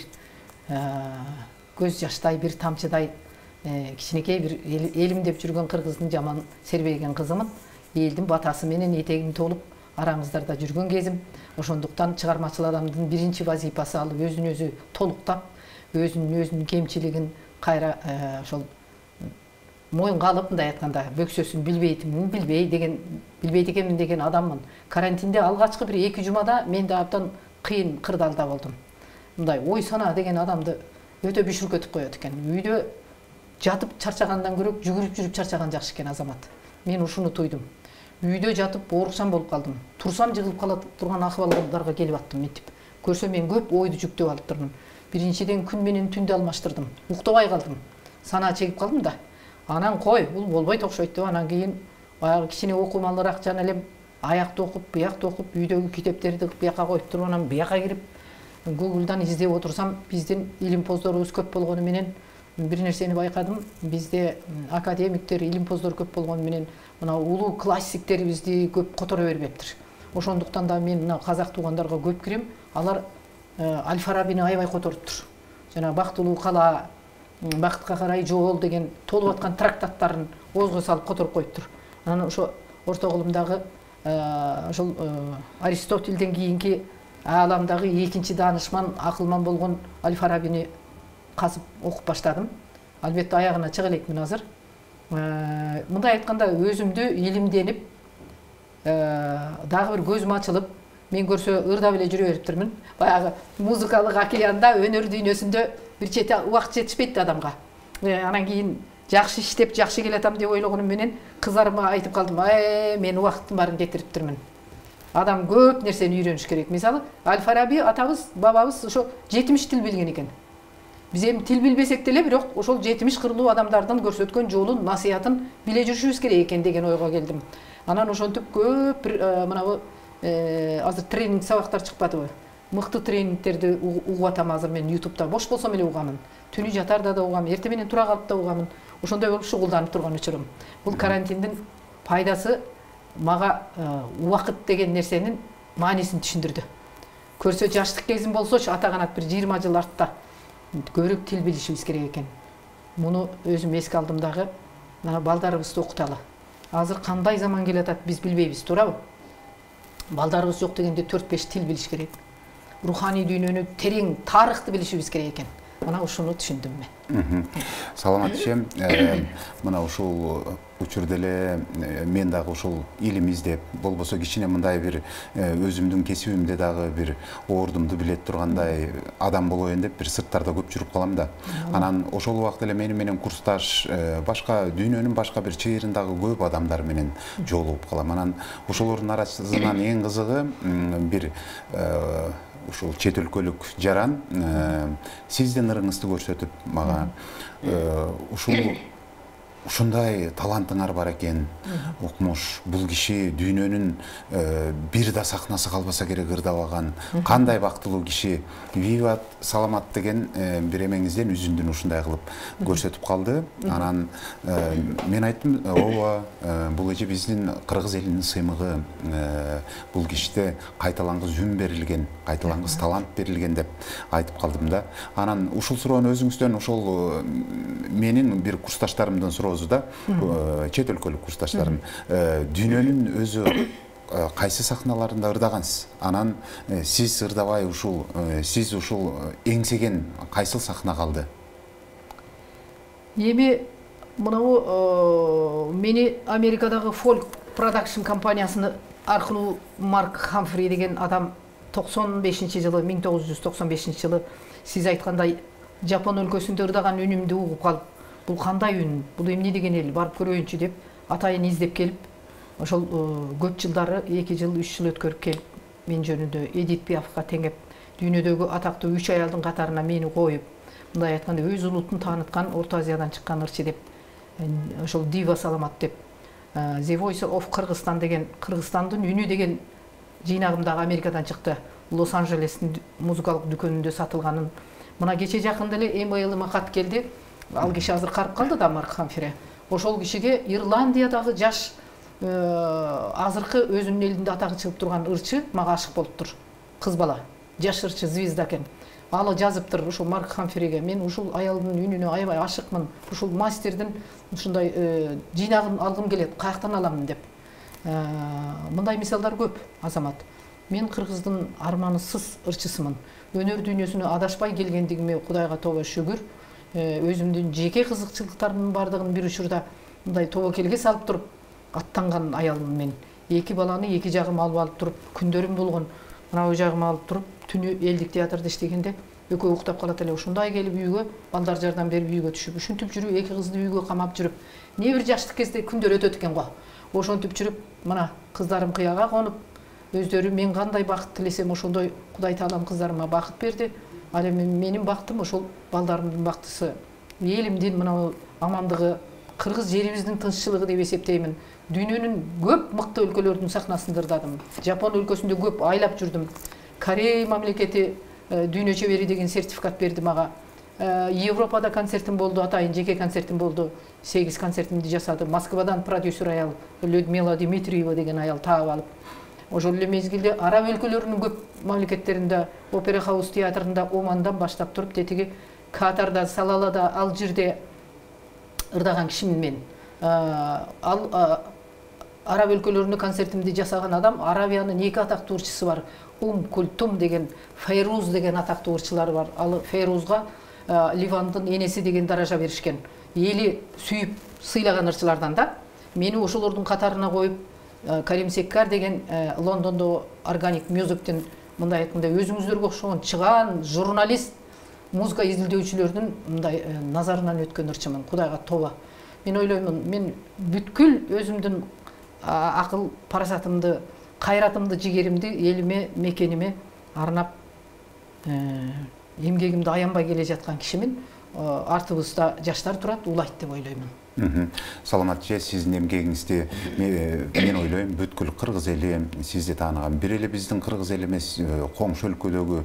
S2: көз жаштай, бир тамчыдай кичинекей бир элим деп жүргөн кыргыздын жаман сербейген кызымын. Элдин батасы менен этегим толуп араңыздарда жүргөн кезим. Ошондуктан чыгармачыл адамдын биринчи вазифасы ал өзүн өзү толуктап, өзүнүн кемчилигин кайра ошол моюнга алып, мындай айтканда, бөксөсүн билбейт экенмин деген адаммын. Карантинде алгачкы бир 2 жумада мен да абдан кыйын кырдаалда болдум. Мындай ой сана деген адамды өтө бүшүркөтүп коет экен. Үйдө жатып чарчагандан көрө жүгүрүп жүрүп чарчаган жакшы экен, Азамат. Мен ушуну туйдум. Үйдө жатып ооруксам болуп калдым. Турсам жыгылып кала турган акыбалдарга келип аттым мынтип. Көрсө мен көп ойду жүктөп алып турдум. Биринчиден күн менен түндү алмаштырдым. Уктабай калдым. Санаа чегип калдым да. Анан кой, бул болбойт окшойт деп анан кийин баягы кичине окумалыраак жана элем аякты окуп, буякты окуп, үйдөгү китептерди буяка коюп туруп, анан буяка кирип Google'дан издеп отурсам, биздин илимпоздорубуз көп болгону менен бир нерсени байкадым. Бизде академиктер, илимпоздор көп болгону менен мына улуу классиктерибизди көп которо бербептир. Ошондуктан да мен мына казак туугандарга көп кирем. Алар Аль-Фарабини аябай которуптур. Жана Бактылуу кала, Бактка карай жол деген толуп аткан трактаттарын оозго салып которуп коюптур. Анан ошо орто кылымдагы ошол Аристотельден кийинки ааламдагы экинчи даанышман, акылман болгон Аль-Фарабини казып окуп баштадым. Албетте аягына чыга элекмин азыр. Мындай айтканда өзүмдү илимденип, дагы бир көзүм ачылып, мен көрсө ырдап эле жүрө бериптирмин. Баягы музыкалык океанда, өнөр дүйнөсүндө бир чете убакыт жетишпейт адамга. Анан кийин жакшы иштеп, жакшы келатам деп ойлогонум менен кыздарыма айтып калдым: мен убакыттын баарын кетириптирмин. Адам көп нерсени үйрөнүш керек. Мисалы, Аль-Фараби атабыз, бабабыз ошо 70 тил билген экен. Биз эми тил билбесек деле, бирок ошол 70 кырлуу адамдардын көрсөткөн жолун, насыятын биле жүрүшүбүз керек экен деген ойго келдим. Анан ошентип көп мынабу азыр тренинг сабактар чыкпадыбы? Мыкты тренингтерди угуп атам азыр мен YouTube'да. Бош болсом эле угамын. Түнү жатарда да угам, эртең менен тура калып да угамын. Ошондой болуп шугулданып турган учурум. Бул карантиндин пайдасы мага убакыт деген нерсенин маанисин түшүндүрдү. Көрсө жаштык кезим болсочу, ата канат бир 20 жыл артта көрүп тил билишибиз керек экен. Муну өзүм эске алдым дагы. Мына балдарыбызды окуталы. Азыр кандай заман келатат биз билбейбиз, туурабы? Балдарыбыз жок дегенде 4-5 тил билиш керек. Руханий дүйнөнү терең, тарыхты билишибиз керек экен. Мына ушуну түшүндүм мен.
S1: Саламатчы, мына ушул учурда эле мен дагы ушул илим издеп, болбосо кичине мындай бир өзүмдүн кесибимде дагы бир оордумду билет тургандай адам болоюн деп бир сырттарда көп жүрүп калам да. Анан ошол убакта эле менин курсташ, башка дүйнөнүн башка бир чыйырындагы көп адамдар менен жолугуп калам. Анан ошолордун арасынан эң кызыгы бир ушул чет өлкөлүк жаран сиздин ырыңызды көрсөтүп мага ушундай талантыңар бар экен, укмуш, бул киши дүйнөнүн бир да сахнасы калбаса керек ырдабаган, кандай бактылуу киши, виват, саламат деген бир эмеңизден үзүндүн ушундай кылып көрсөтүп калды. Анан мен айттым: ооба, бул эже биздин кыргыз элинин сыймыгы, бул кишиде кайталангыс үн берилген, кайталангыс талант берилген деп айтып калдым да. Анан ушул суроону өзүңүздөн ошол менин бир курсташтарымдын суроосу да, чет өлкөлүк курсташтарым, дүйнөнүн өзү кайсы сахналарында ырдагансыз? Анан сиз ырдабай сиз ушул эңсеген кайсыл сахна калды?
S2: Эми мынау мени Америкадагы Folk Production компаниясыны аркылуу Марк Хамфри деген адам 95-жылы 1995-жылы сиз айткандай Жапон өлкөсүндө ырдаган үнүмдү угуп калып, бул кандай үн, бул эмне деген эл, барып көрөйүнчү деп атайын издеп келип, ошол көп жылдары 2 жыл 3 жыл өткөрүп келип, мен жөнүндө Эдит Пиафка теңеп, дүйнөдөгү атактуу 3 аялдын катарына мени коюп, мындай айтканда өз улутун тааныткан Орто Азиядан чыккан ырчы деп, ошол дива саламат деп, The Voice of Кыргызстан деген, Кыргызстандын үнү деген жыйнагымдагы Америкадан чыкты. Лос-Анджелестин музыкалык дүкөнүндө сатылганын. Мына кече жакында эле эмейлиме кат келди. Ал киши азыр карып калды да, Марк Хамфри. Ошол кишиге Ирландиядагы жаш азыркы өзүнүн элинде атагы чыгып турган ырчы мага ашык болуптур. Кыз бала, жаш ырчы, звезда экен. Алы жазыптыр ушул Марк Хамфриге. Мен ушул аялдын үнүнө аябай ашыкмын. Ушул мастердин ушундай жыйнагын алгым келет, каяктан аламын деп. Мындай мисалдар көп, Азамат. Мен кыргыздын арманысыз ырчысымын. Өнөр дүйнөсүнө адашпай келгендигиме Кудайга тоба шүгүр. Өзүмдүн жеке кызыкчылыктарымдын бардыгын бир учурда мындай тобокелге салып туруп аттанган аялмын мен. 2 баланы 2 жагыма алып туруп, күндөрүм болгон. Мына ой жагыма алып туруп, түнү элдик театрда иштегенде экөө уктап калат эле. Ошондой келип үйгө, балдар жардам берип үйгө түшүп, ушинтип жүрүп, 2 кызды үйгө камап жүрүп, не бир жаштык кезде күндөр өтөт экен го. Ошентип жүрүп, мына кыздарым кыяга конуп, өздөрү мен кандай бакыт тилесем ошондой Кудай Таалам кыздарыма бакыт берди. Ал эми менин бактым ошол балдарымдын бактысы. Элимдин мына амандыгы, кыргыз жерибиздин тынччылыгы деп эсептеймин. Дүйнөнүн көп мыкты өлкөлөрдүн сахнасында ырдадым. Жапон өлкөсүндө көп айлап жүрдүм. Корей мамлекети дүйнө чебери деген сертификат берди мага. Европада концертим болду, атайын жеке концертим болду. 8 концертимди жасадым. Москвадан продюсер аял Людмила Дмитриева деген аял таап алып. Ошол эле мезгилде араб өлкөлөрүнүн көп мамлекеттеринде, Опера Хаус театрында Омандан баштап туруп, тетиги Катарда, Салалада, Алжирде ырдаган кишимин мен. Араб өлкөлөрүнө концертимди жасаган адам, Арабиянын 2 атактуу ырчысы бар. Культум деген, Фейруз деген атактуу ырчылары бар. Ал Фейрузга Ливандын энеси деген даража беришкен. Эли сүйүп сыйлаган ырчылардан да. Мени ошолордун катарына коюп, Карим Секкар деген Лондондо Organic Music'тин мындай айтканда өзүңүздөргө окшогон чыгаан журналист, музыка изилдөөчүлөрдүн мындай назарынан өткөн ырчымын. Кудайга тоба. Мен ойлоймун, мен бүткүл өзүмдүн акыл парасатымды, кайратымды, жигеримди элиме, мекениме арнап эмгегимди аянбай келе жаткан кишимин. Артыбызда жаштар турат, улайт деп ойлоймун.
S1: Саламат же, сиздин эмгегиңизди мен ойлойм бүткүл кыргыз эли сизди тааныган. Бир эле биздин кыргыз эли эмес, коңшу өлкөдөгү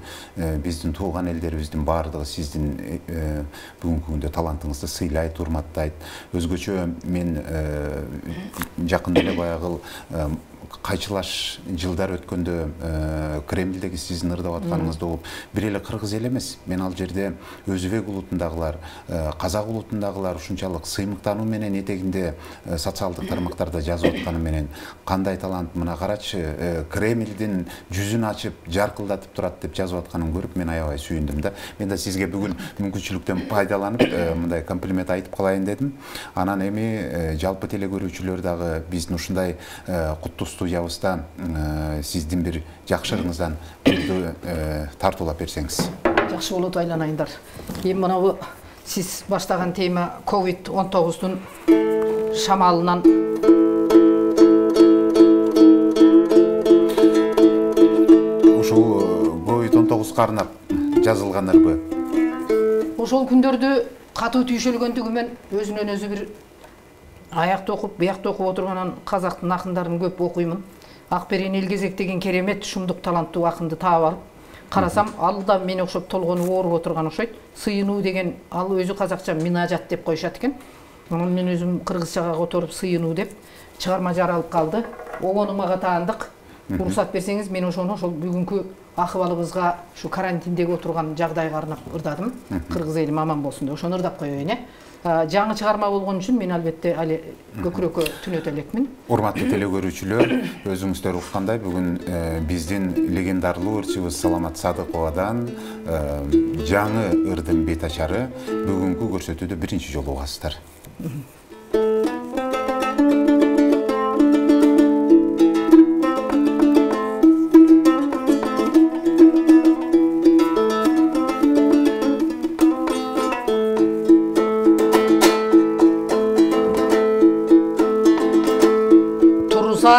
S1: биздин тууган элдерибиздин баардыгы сиздин бүгүнкү күндө талантыңызды сыйлайт, урматтайт. Өзгөчө мен жакында эле баягы кайчылаш жылдар өткөндө Кремлдеги сиздин ырдап атканыңызды угуп, бир эле кыргыз эл эмес, мен ал жерде өзбек улутундагылар, казак улутундагылар ушунчалык сыймыктануу менен этегинде социалдык тармактарда жазып атканы менен кандай талант, мына карачы, Кремлдин жүзүн ачып, жаркылдатып турат деп жазып атканын көрүп, мен аябай сүйүндүм да. Мен да сизге бүгүн мүмкүнчүлүктөн пайдаланып, мындай комплимент айтып калайын дедим. Анан эми жалпы теле көрүүчүлөр дагы биздин ушундай куттуу студиябызда сиздин бир жакшырыңыздан бирди тартуулап берсеңиз.
S2: Жакшы болот, айланайындар. Эми мына сиз баштаган тема COVID-19-дун шамалынан
S1: ушул COVID-19 арнап жазылгандарбы?
S2: Ошол күндөрдө катуу түйшөлгөндүгүмен өзүнөн өзү бир аякта окуп, биякта окуп отурганан казактын акындарын көп окуймун. Акберен Элгезек деген керемет шумдук таланттуу акынды таап алып, карасам, ал да мени окшоп толгону ооруп отурган окшойт. Сыйынуу деген, ал өзү казакча минажат деп коюшат экен. Анан мен өзүм кыргызчага которуп сыйынуу деп чыгарма жаралып калды. Огону мага таандык. Уруксат берсеңиз, мен ошону ошол бүгүнкү акыбалыбызга, ушу карантиндеги отурган жагдайга арнап ырдадым. Кыргыз элим аман болсун деп ошону ырдап коеюн, жаңы чыгарма болгон үчүн мен албетте али көкүрөккө түнөтө элекмин.
S1: Урматтуу теле көрүүчүлөр, өзүңүздөр уккандай бүгүн биздин легендарлуу ырчыбыз Саламат Садыковадан жаңы ырдын бет ачары бүгүнкү көрсөтүүдө биринчи жолу угасыздар.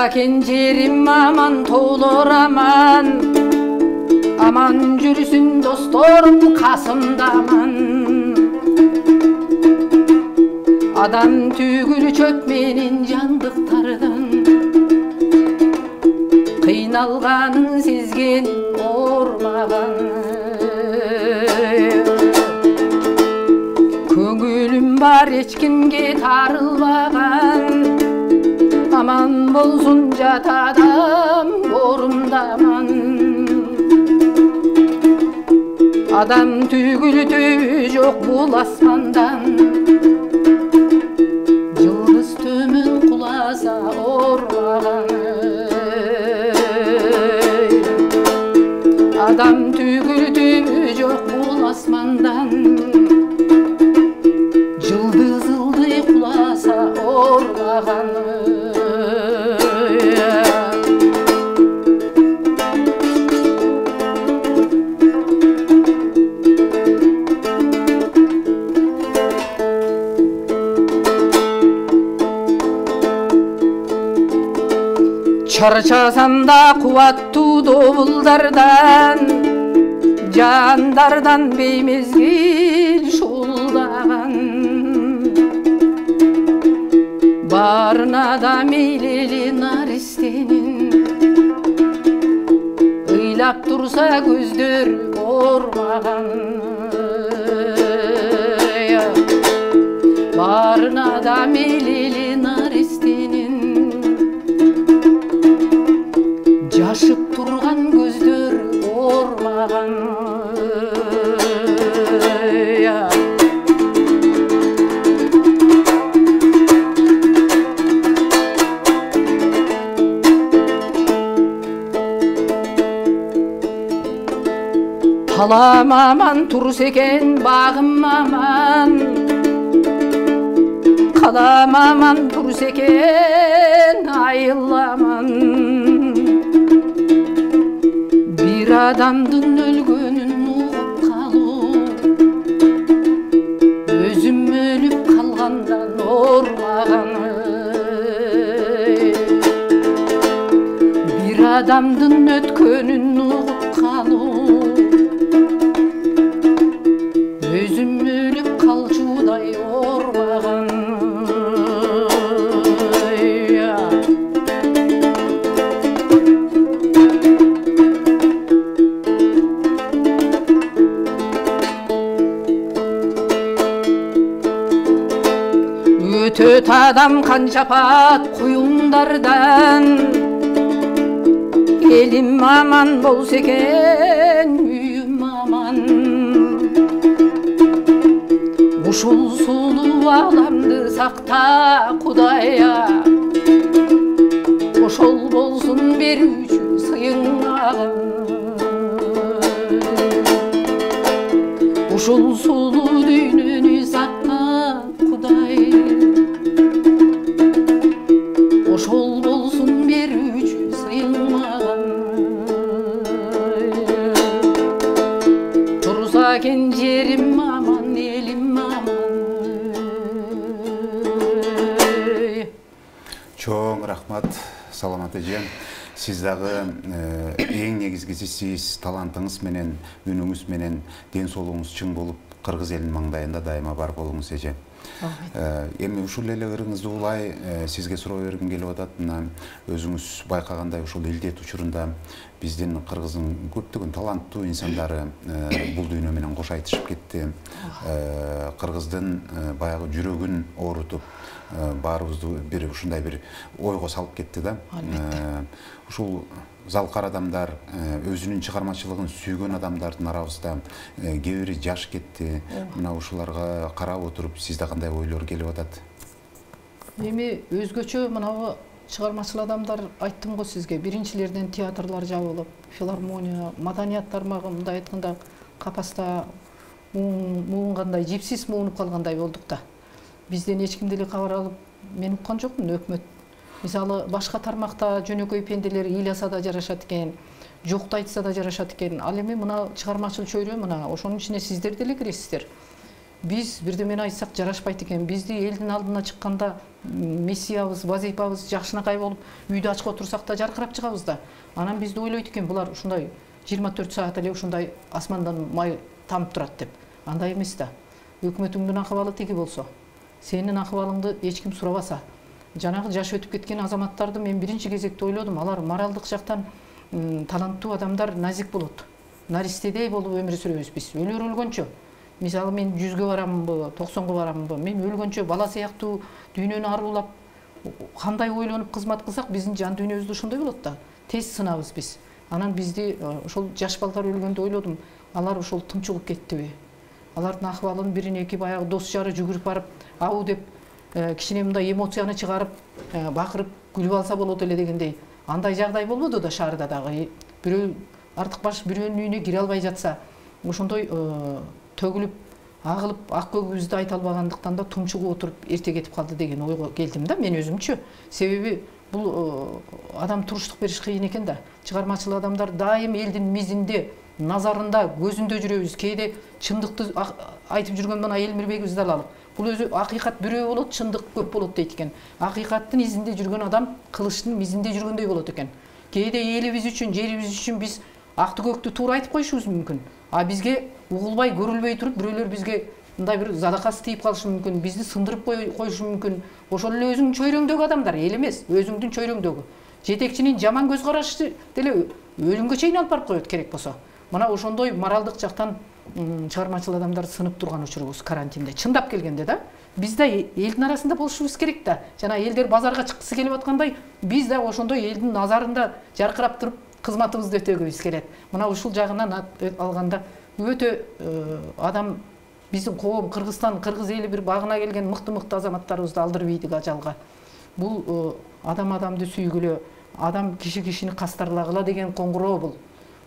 S2: Турса кенжерим аман, тоолор аман, аман жүрсүн досторум касымда аман. Адам түгүл чөп менен жандыктардан, кыйналганын сезген ормаган. Көңүлүм бар эч кимге тарылбаган, аман болсун жат адам орумдаман. Адам түгүл түбү жок бул асмандан, жылдыз төмөн куласа ормаган. Адам түгүл түбү жок бул асмандан, жылдыз ылдый куласа ормаган. Чарчасам да кубаттуу добулдардан, жандардан беймезгил шуулдаган. Барына да мейлели наристенин, ыйлап турса көздөр ормаган. Барына да мейлели наристенин, жашып турган көздөр ормаган. Талам аман турса экен багым аман, калам аман турса экен айыл аман. Bir adamdın ölgönün uğup kaluu, özüm ölüp kalgandan ormağan. Bir adamdın ötkönün uğup kaluu, özüm ölüp kalçuday ormağan. Өтөт адам канча пат куюңдардан, элим аман болсо экен, үйүм аман. Ушул сулуу аламды сакта Кудайя, ошол болсун берүүчү сыйың мага. Ушул сулуу дүйнөнү сакта Кудай, ошол болсун берүүчү сыйың мага. Турса кенжерим аман, элим аман.
S1: Чоң рахмат, саламат эже. Сиз дагы эң негизгиси сиз талантыңыз менен, үнүңүз менен ден соолугуңуз чың болуп, кыргыз элинин маңдайында дайыма бар болуңуз эже. Эми ушул эле ырыңызды улай сизге суроо бергим келип атат. Мына өзүңүз байкагандай ушул илдет учурунда биздин кыргыздын көптөгөн таланттуу инсандары бул дүйнө менен кош айтышып кетти. Кыргыздын баягы жүрөгүн оорутуп, баарыбызды бир ушундай бир ойго салып кетти да. Ушул залкар адамдар, өзүнүн чыгармачылыгын сүйгөн адамдардын арабызда кээ бири жаш кетти. Мына ушуларга карап отуруп сизде кандай ойлор келип атат?
S2: Эми өзгөчө мынабу чыгармачыл адамдар айттым го сизге, биринчилерден театрлар жабылып, филармония, маданият тармагы мындай айтканда капаста муунгандай, жипсиз муунуп калгандай болдук да. Бизден эч ким деле кабар алып, мен уккан жокмун, өкмөт. Мисалы башка тармакта жөнөкөй пенделер ыйласа да жарашат экен, жокту айтса да жарашат экен. Ал эми мына чыгармачыл чөйрө мына ошонун ичине сиздер деле киресиздер. биз бирдемени айтсак жарашпайт экен. Бизди элдин алдына чыкканда миссиябыз, вазифабыз жакшынакай болуп, үйдө ачык отурсак да жаркырап чыгабыз да. Анан бизди ойлойт экен, булар ушундай 24 саат эле ушундай асмандан май тамып турат деп. Андай эмес да. Өкмөтүңдүн акыбалы тиги болсо, сенин акыбалыңды эч ким сурабаса, жанагы жаш өтүп кеткен азаматтарды мен биринчи кезекте ойлодум. Алар моралдык жактан таланттуу адамдар, назик болот. Наристедей болуп өмүр сүрөбүз биз. Өлөр өлгөнчө. Мисалы мен 100гө барамынбы, 90го барамынбы? Мен өлгөнчө бала сыяктуу дүйнөнү арулап, кандай ойлонуп кызмат кылсак, биздин жан дүйнөбүз да ошондой болот да. Тез сынабыз биз. Анан бизди ошол жаш балдар өлгөндө ойлодум, алар ошол тынчыгып кеттиби? Алардын акыбалын бирине эки баягы дос жары жүгүрүп барып, ау деп кичине мындай эмоцияны чыгарып, бакырып, күлүп алса болот эле дегендей. Андай жагдай болбоду да шаарда дагы. Бирөө артык баш бирөөнүн үйүнө кире албай жатса, ошондой төгүлүп, агылып, ак көгүбүздү айта албагандыктан да тумчугуп отуруп эрте кетип калды деген ойго келдим да мен өзүмчү. Себеби бул адам туруштук бериш кыйын экен да. Чыгармачыл адамдар дайым элдин мизинде, назарында, көзүндө жүрөбүз. Кээде чындыкты айтып жүргөн мына Элмирбекибизди алалы. Бул өзү акыйкат бирөө болот, чындык көп болот дейт экен. Акыйкаттын изинде жүргөн адам кылычтын мизинде жүргөндөй болот экен. Кээде элибиз үчүн, жерибиз үчүн биз акты көктү туура айтып коюшубуз мүмкүн. А бизге угулбай, көрүлбөй туруп бирөөлөр бизге мындай бир задакасы тийип калышы мүмкүн, бизди сындырып коюшу мүмкүн. Ошол эле өзүңдүн чөйрөңдөгү адамдар, эл эмес, өзүңдүн чөйрөңдөгү. Жетекчинин жаман көз карашы деле өлүмгө чейин алып барып коет керек болсо. Мына ошондой моралдык жактан чыгармачыл адамдар сынып турган учурубуз карантинде. Чындап келгенде да, биз да элдин арасында болушубуз керек да. Жана элдер базарга чыккысы келип аткандай, биз да ошондой элдин назарында жаркырап туруп кызматыбызды өтөгүбүз келет. Мына ушул жагынан алганда өтө адам биздин коом Кыргызстан, кыргыз эли бир багына келген мыкты азаматтарыбызды алдырып ийдик ажалга. Бул адам адамды сүйгүлө, адам кишини кастарлагыла деген коңгуроо бул.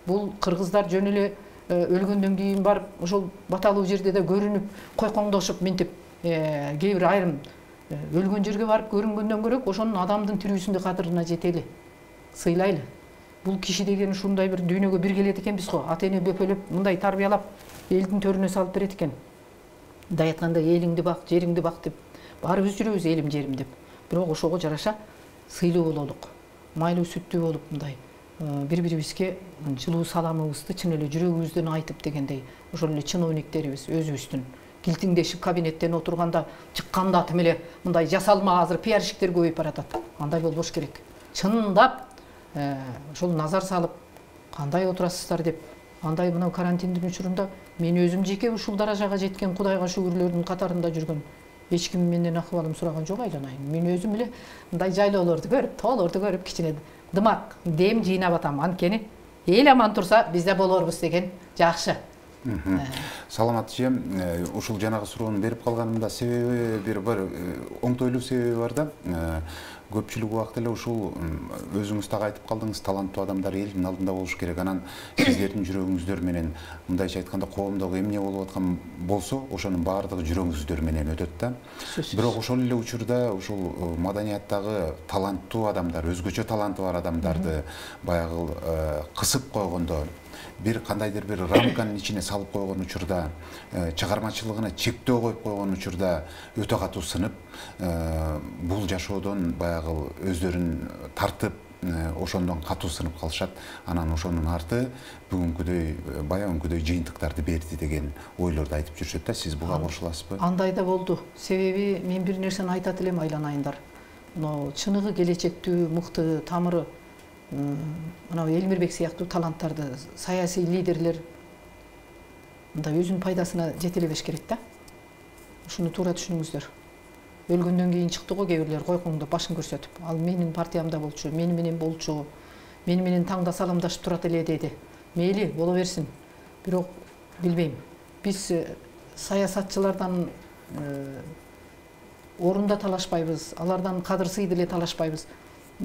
S2: Бул кыргыздар жөн эле өлгөндөн кийин барып ошол баталуу жерде да көрүнүп, койкоңдошуп минтип, кээ бир айрым өлгөн жерге барып көрүнгөндөн көрөк, ошонун адамдын тирүүсүндө кадырына жетели, сыйлайлы. Бул киши деген ушундай бир дүйнөгө бир келет экенбиз го. Ата эне бөпөлөп, мындай тарбиялап, элдин төрүнө салып берет экен. Мындай айтканда элиңди бак, жериңди бак деп, баарыбыз жүрөбүз элим жерим деп. Бирок ошого жараша сыйлуу бололук, майлуу сүттүү болуп мындай бири-бирибизге жылуу саламыбызды чын эле жүрөгүбүздөн айтып дегендей, ошол эле чиновниктерибиз өзүбүздүн килтиңдешип кабинеттен отурганда чыкканда атым эле мындай жасалма азыр пиарщиктер көбөйүп баратат. Андай болбош керек. Чындап ошол назар салып, кандай отурасыздар деп, андай мына карантиндин учурунда мен өзүм жеке ушул даражага жеткен Кудайга шүгүрлөрдүн катарында жүргөн эч ким менден акыбалым сураган жок айланайын. Мен өзүм эле мындай жайлоолорду көрүп, тоолорду көрүп кичине дымак, дем жыйнап атам. Анткени эл аман турса биз да болорбуз деген жакшы.
S1: Саламат эжем, ушул жанагы суроону берип калганымда себеби бир оңтойлуу себеби бар да. Көпчүлүк убакыт эле ушул өзүңүз так айтып калдыңыз, таланттуу адамдар элдин алдында болуш керек. Анан сиздердин жүрөгүңүздөр менен мындайча айтканда коомдогу эмне болуп аткан болсо, ошонун баардыгы жүрөгүңүздөр менен өтөт да. Бирок ошол эле учурда ушул маданияттагы таланттуу адамдар, өзгөчө таланты бар адамдарды баягы кысып койгондо, бир кандайдыр бир рамканын ичине салып койгон учурда, чыгармачылыгына чектөө коюп койгон учурда өтө катуу сынып, бул жашоодон баягы өздөрүн тартып, ошондон катуу сынып калышат. Анан ошонун арты бүгүнкүдөй, баягынкыдөй жыйынтыктарды берди деген ойлорду айтып жүрүшөт да. Сиз буга кошуласызбы? Андай
S2: да болду. Себеби мен бир нерсени айтат элем айланайындар. Чыныгы келечектүү, мыкты, тамыры мына Элмирбек сыяктуу таланттарды, саясий лидерлер мындай өзүнүн пайдасына жете элебеш керек да. Ушуну туура түшүнүңүздөр. Өлгөндөн кийин чыкты го кээ бирлер койкоңдоп башын көрсөтүп, ал менин партиямда болчу, мени менен болчу, мени менен таңда саламдашып турат эле деди. Мейли, боло берсин. Бирок билбейм. Биз саясатчылардан орунда талашпайбыз, алардан кадыр сыйды эле талашпайбыз.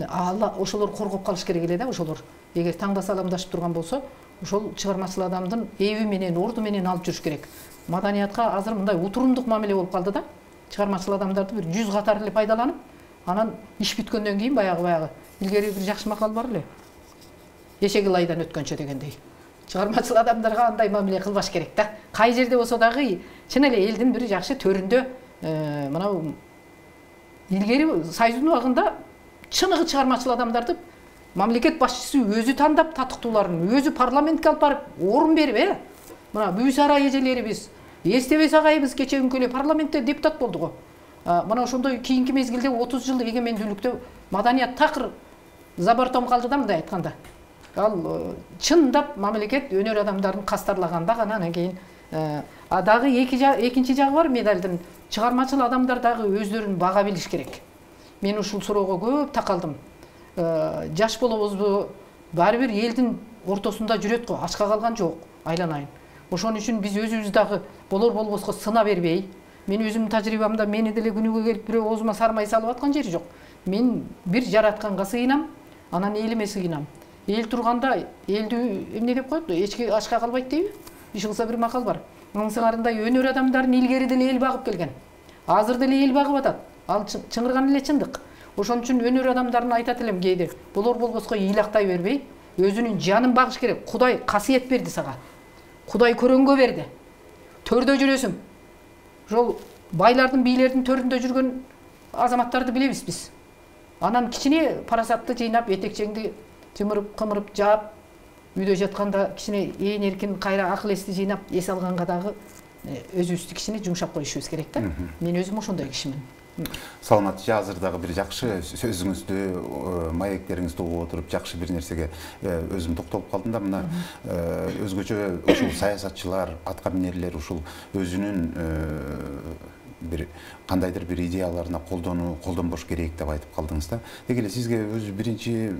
S2: Алла ошолор коргоп калыш керек эле да, ошолор. Эгер таңда саламдашып турган болсо, ошол чыгармачыл адамдын эби менен, орду менен алып жүрүш керек. Маданиятка азыр мындай утурумдук мамиле болуп калды да. Чыгармачыл адамдарды бир 100 катар эле пайдаланып, анан иш бүткөндөн кийин баягы илгери бир жакшы макал бар эле. Эшеги лайдан өткөнчө дегендей. чыгармачыл адамдарга андай мамиле кылбаш керек да. Кай жерде болсо дагы чын эле элдин бир жакшы төрүндө мына илгери Союздун убагында чыныгы чыгармачыл адамдарды мамлекет башчысы өзү тандап, татыктууларын өзү парламентке алып барып орун берип, мына Бүйсара эжелерибиз, эстебес агайыбыз кечеүнкү эле парламентте депутат болду го. Мына ошондой кийинки мезгилде 30 жыл эгемендүүлүктө маданият такыр забортом калды да, мындай айтканда. Ал чындап мамлекет өнөр адамдарын кастарлаганда гана анан кийин дагы экинчи жагы бар медалдын. Чыгармачыл адамдар дагы өздөрүн бага билиш керек. Мен ушул суроого көп такалдым. Жаш болобузбу, баары бир элдин ортосунда жүрөт го, ачка калган жок, айланайын. Ошон үчүн биз өзүбүз дагы болор болбоско сына бербей, мен өзүмдүн тажрыйбамда мени деле күнүгө келип бирөө оозума сармай салып аткан жери жок. Мен бир жаратканга сыйынам, анан элиме сыйынам. Эл турганда элдүү эмне деп коет, эчки ачка калбайт дейби? Иш кылса бир макал бар. Аңсыңарындай өнөр адамдарын илгери деле эл багып келген. Азыр деле эл багып атат. Ал чыңырган эле чындык. Ошон үчүн өнөр адамдарына айтат элем кээде, болор болбоско ыйлактай бербей, өзүнүн жанын багыш керек. Кудай касиет берди сага. Кудай көрөнгө берди. Төрдө жүрөсүң. Ошол байлардын, бийлердин төрүндө жүргөн азаматтарды билебиз биз. Анан кичине парасатты жыйнап, этекчеңди жымырып, кымырып жаап, үйдө жатканда кичине ээн эркин кайра акыл эсти жыйнап, эс алганга дагы өзүбүздү кичине жумшап коюшубуз керек да. Мен өзүм ошондой кишимин.
S1: Саламатчы, азыр дагы бир жакшы сөзүңүздү, маектериңизди угуп отуруп жакшы бир нерсеге өзүм токтолуп калдым да. Мына өзгөчө ушул саясатчылар, аткаминерлер ушул өзүнүн бир кандайдыр бир идеяларына колдонбош керек деп айтып калдыңыз да. Деги эле сизге өзү биринчи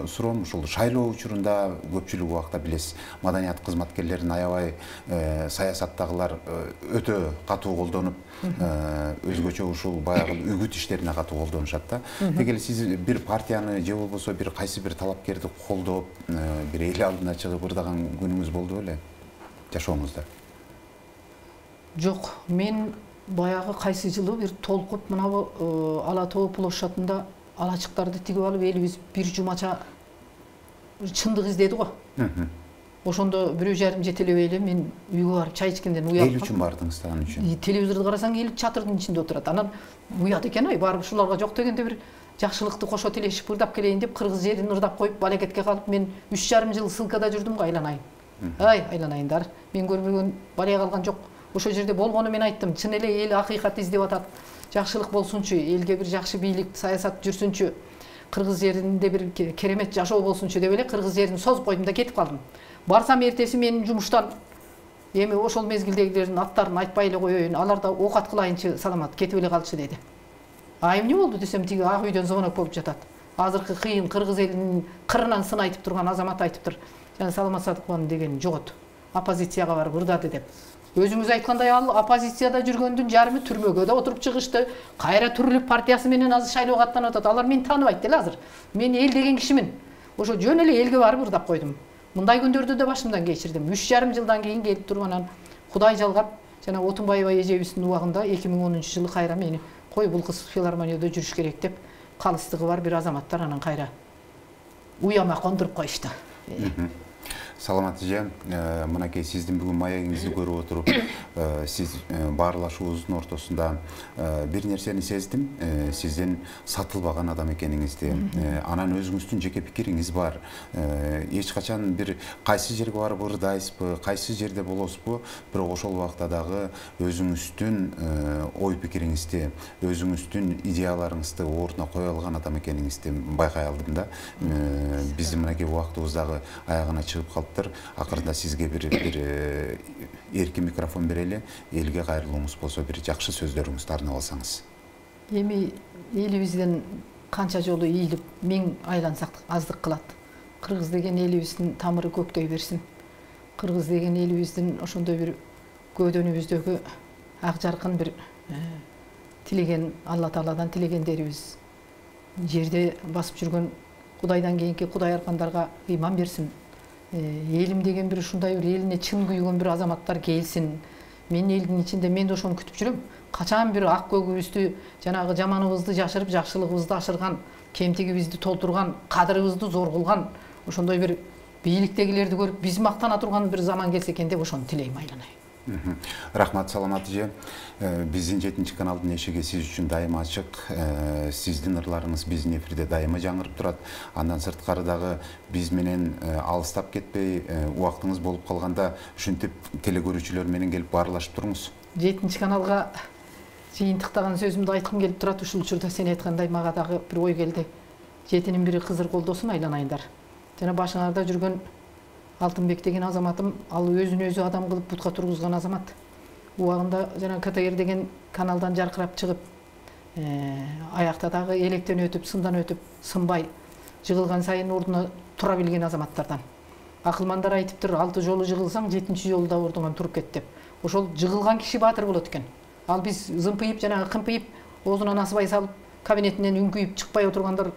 S1: суроом ушул шайлоо учурунда көпчүлүк убакта билесиз, маданият кызматкерлерин аябай саясаттагылар өтө катуу колдонуп, өзгөчө ушул баягы үгүт иштерине катуу колдонушат да. Деги эле сиз бир партияны же болбосо бир кайсы бир талапкерди колдоп, бир эл алдына чыгып ырдаган күнүңүз болду беле жашооңузда?
S2: Жок, мен баягы кайсы жылы бир толкуп мына Ала Тоо площадында алачыктарды тигип алып элибиз бир жумача чындык издеди го. Ошондо 1,5 жетелебей эле мен үйгө барып чай ичкенден уялып.
S1: Эл үчүн бардыңыз да аны үчүн.
S2: Телевизорду карасаң эл чатырдын ичинде отурат. Анан уят экен, барып ушуларга жок дегенде бир жакшылыкты кошо тилешип ырдап келейин деп кыргыз жерин ырдап коюп балекетке калып мен 3,5 жыл ссылкада жүрдүм го, айланайын. Айланайындар. Мен көрбөгөн бале калган жок. Ошол жерде болгону мен айттым. Чын эле эл акыйкат издеп атат. Жакшылык болсунчу, элге бир жакшы бийлик, саясат жүрсүнчү, кыргыз жеринде бир керемет жашоо болсунчу деп эле кыргыз жерин созуп койдум да кетип калдым. Барсам эртеси менин жумуштан эми ошол мезгилдегилердин аттарын айтпай эле коеюн, алар да оокат кылайынчы саламат кетип эле калчу деди. Эмне болду десем, тиги ак үйдөн звонок болуп жатат. Азыркы кыйын кыргыз элинин кырынан сын айтып турган азамат айтыптыр. Жана Саламат Садыкованын деген жогот. Оппозицияга барып ырдады деп. Өзүңүз айткандай, ал оппозицияда жүргөндүн жарымы түрмөгө да отуруп чыгышты. Кайра түрүлүп партиясы менен азыр шайлоого аттанып атат. Алар мени тааныбайт деле азыр. Мен эл деген кишимин. Ошо жөн эле элге барып ырдап койдум. Мындай күндөрдү да башымдан кечирдим. 3,5 жылдан кийин келип туруп анан Кудай жалгап, жана Отунбаева эжебиздин убагында 2010-жылы кайра мени кой бул кыз филармонияда жүрүш керек деп калыстыгы бар бир азаматтар анан кайра уяма кондуруп коюшту.
S1: Саламат эже, мынакей сиздин бүгүн маегиңизди көрүп отуруп, сиз баарлашуубуздун ортосунда бир нерсени сездим, сиздин сатылбаган адам экениңизди. Анан өзүңүздүн жеке пикириңиз бар. Эч качан бир кайсы жерге барып ырдайсызбы, кайсы жерде болосузбу, бирок ошол убакта дагы өзүңүздүн ой пикириңизди, өзүңүздүн идеяларыңызды ордуна кое алган адам экениңизди байкай алдым да. Биздин мынакей убактыбыз дагы аягына чыгып калып, акырында сизге бир эркин микрофон берели, элге кайрылууңуз болсо бир жакшы сөздөрүңүздү арнап алсаңыз.
S2: Эми элибизден канча жолу ийилип, миң айлансак аздык кылат. Кыргыз деген элибиздин тамыры көктөй берсин. Кыргыз деген элибиздин ошондой бир көөдөнүбүздөгү ак жаркын бир тилеген, Алла Тааладан тилегендерибиз жерде басып жүргөн Кудайдан кийинки Кудай аркандарга ыйман берсин. Элим деген бир ушундай бир элине чын күйгөн бир азаматтар келсин. Мен элдин ичинде мен да ошону күтүп жүрөм. Качан бир ак көгүбүздү, жанагы жаманыбызды жашырып, жакшылыгыбызды ашырган, кемтигибизди толтурган, кадырыбызды зор кылган ошондой бир бийликтегилерди көрүп биз мактана турган бир заман келсе экен деп ошону тилейм айланай.
S1: Рахмат, саламат эже. Биздин 7 каналдын эшиги сиз үчүн дайыма ачык. Сиздин ырларыңыз биздин эфирде дайыма жаңырып турат. Андан сырткары дагы биз менен алыстап кетпей, убактыңыз болуп калганда ушинтип телекөрүүчүлөр менен келип баарлашып туруңуз.
S2: 7 каналга жыйынтыктаган сөзүмдү айткым келип турат. Ушул учурда сен айткандай мага дагы бир ой келди. 7-нин бири кызыр колдосун айланайындар. Жана башыңарда жүргөн Алтынбек деген азаматым, ал өзүн өзү адам кылып бутка тургузган азамат. Убагында жана КТР деген каналдан жаркырап чыгып, аякта дагы электен өтүп, сындан өтүп, сынбай, жыгылган сайын ордуна тура билген азаматтардан. Акылмандар айтыптыр, 6 жолу жыгылсаң, 7-чи жолда ордуңан туруп кет деп. Ошол жыгылган киши баатыр болот экен. Ал биз зымпыйып жана кымпыйып, оозунан асыбай салып, кабинетинен үңкүйүп чыкпай отургандар,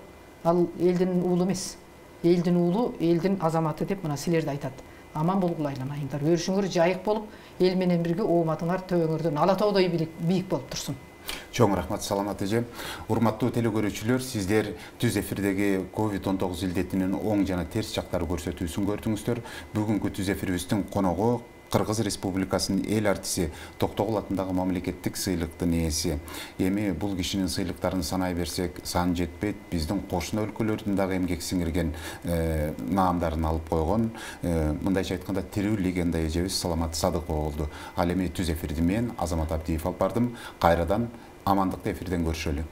S2: ал элдин уулу эмес. Элдин уулу, элдин азаматы деп мына силерди айтат. Аман болгула айланайындар. Өрүшүңөр жайык болуп, эл менен бирге ооматыңар төбөңөрдөн ала тоодой бийик болуп турсун.
S1: Чоң рахмат, саламат эже. Урматтуу телекөрүүчүлөр, сиздер түз эфирдеги COVID-19 илдетинин оң жана терс жактары көрсөтүүсүн көрдүңүздөр. Бүгүнкү түз эфирибиздин коногу Кыргыз Республикасынын эл артиси Токтогул атындагы мамлекеттик сыйлыктын ээси. Эми бул кишинин сыйлыктарын санай берсек, сан жетпейт. Биздин кошуна өлкөлөрдүн дагы эмгек сиңирген наамдарын алып койгон, мындайча айтканда тирүү легенда эжебиз Саламат Садыкова болду. Ал эми түз эфирди мен Азамат Абдиев алып бардым. Кайрадан амандыкты эфирден көрүшөлү.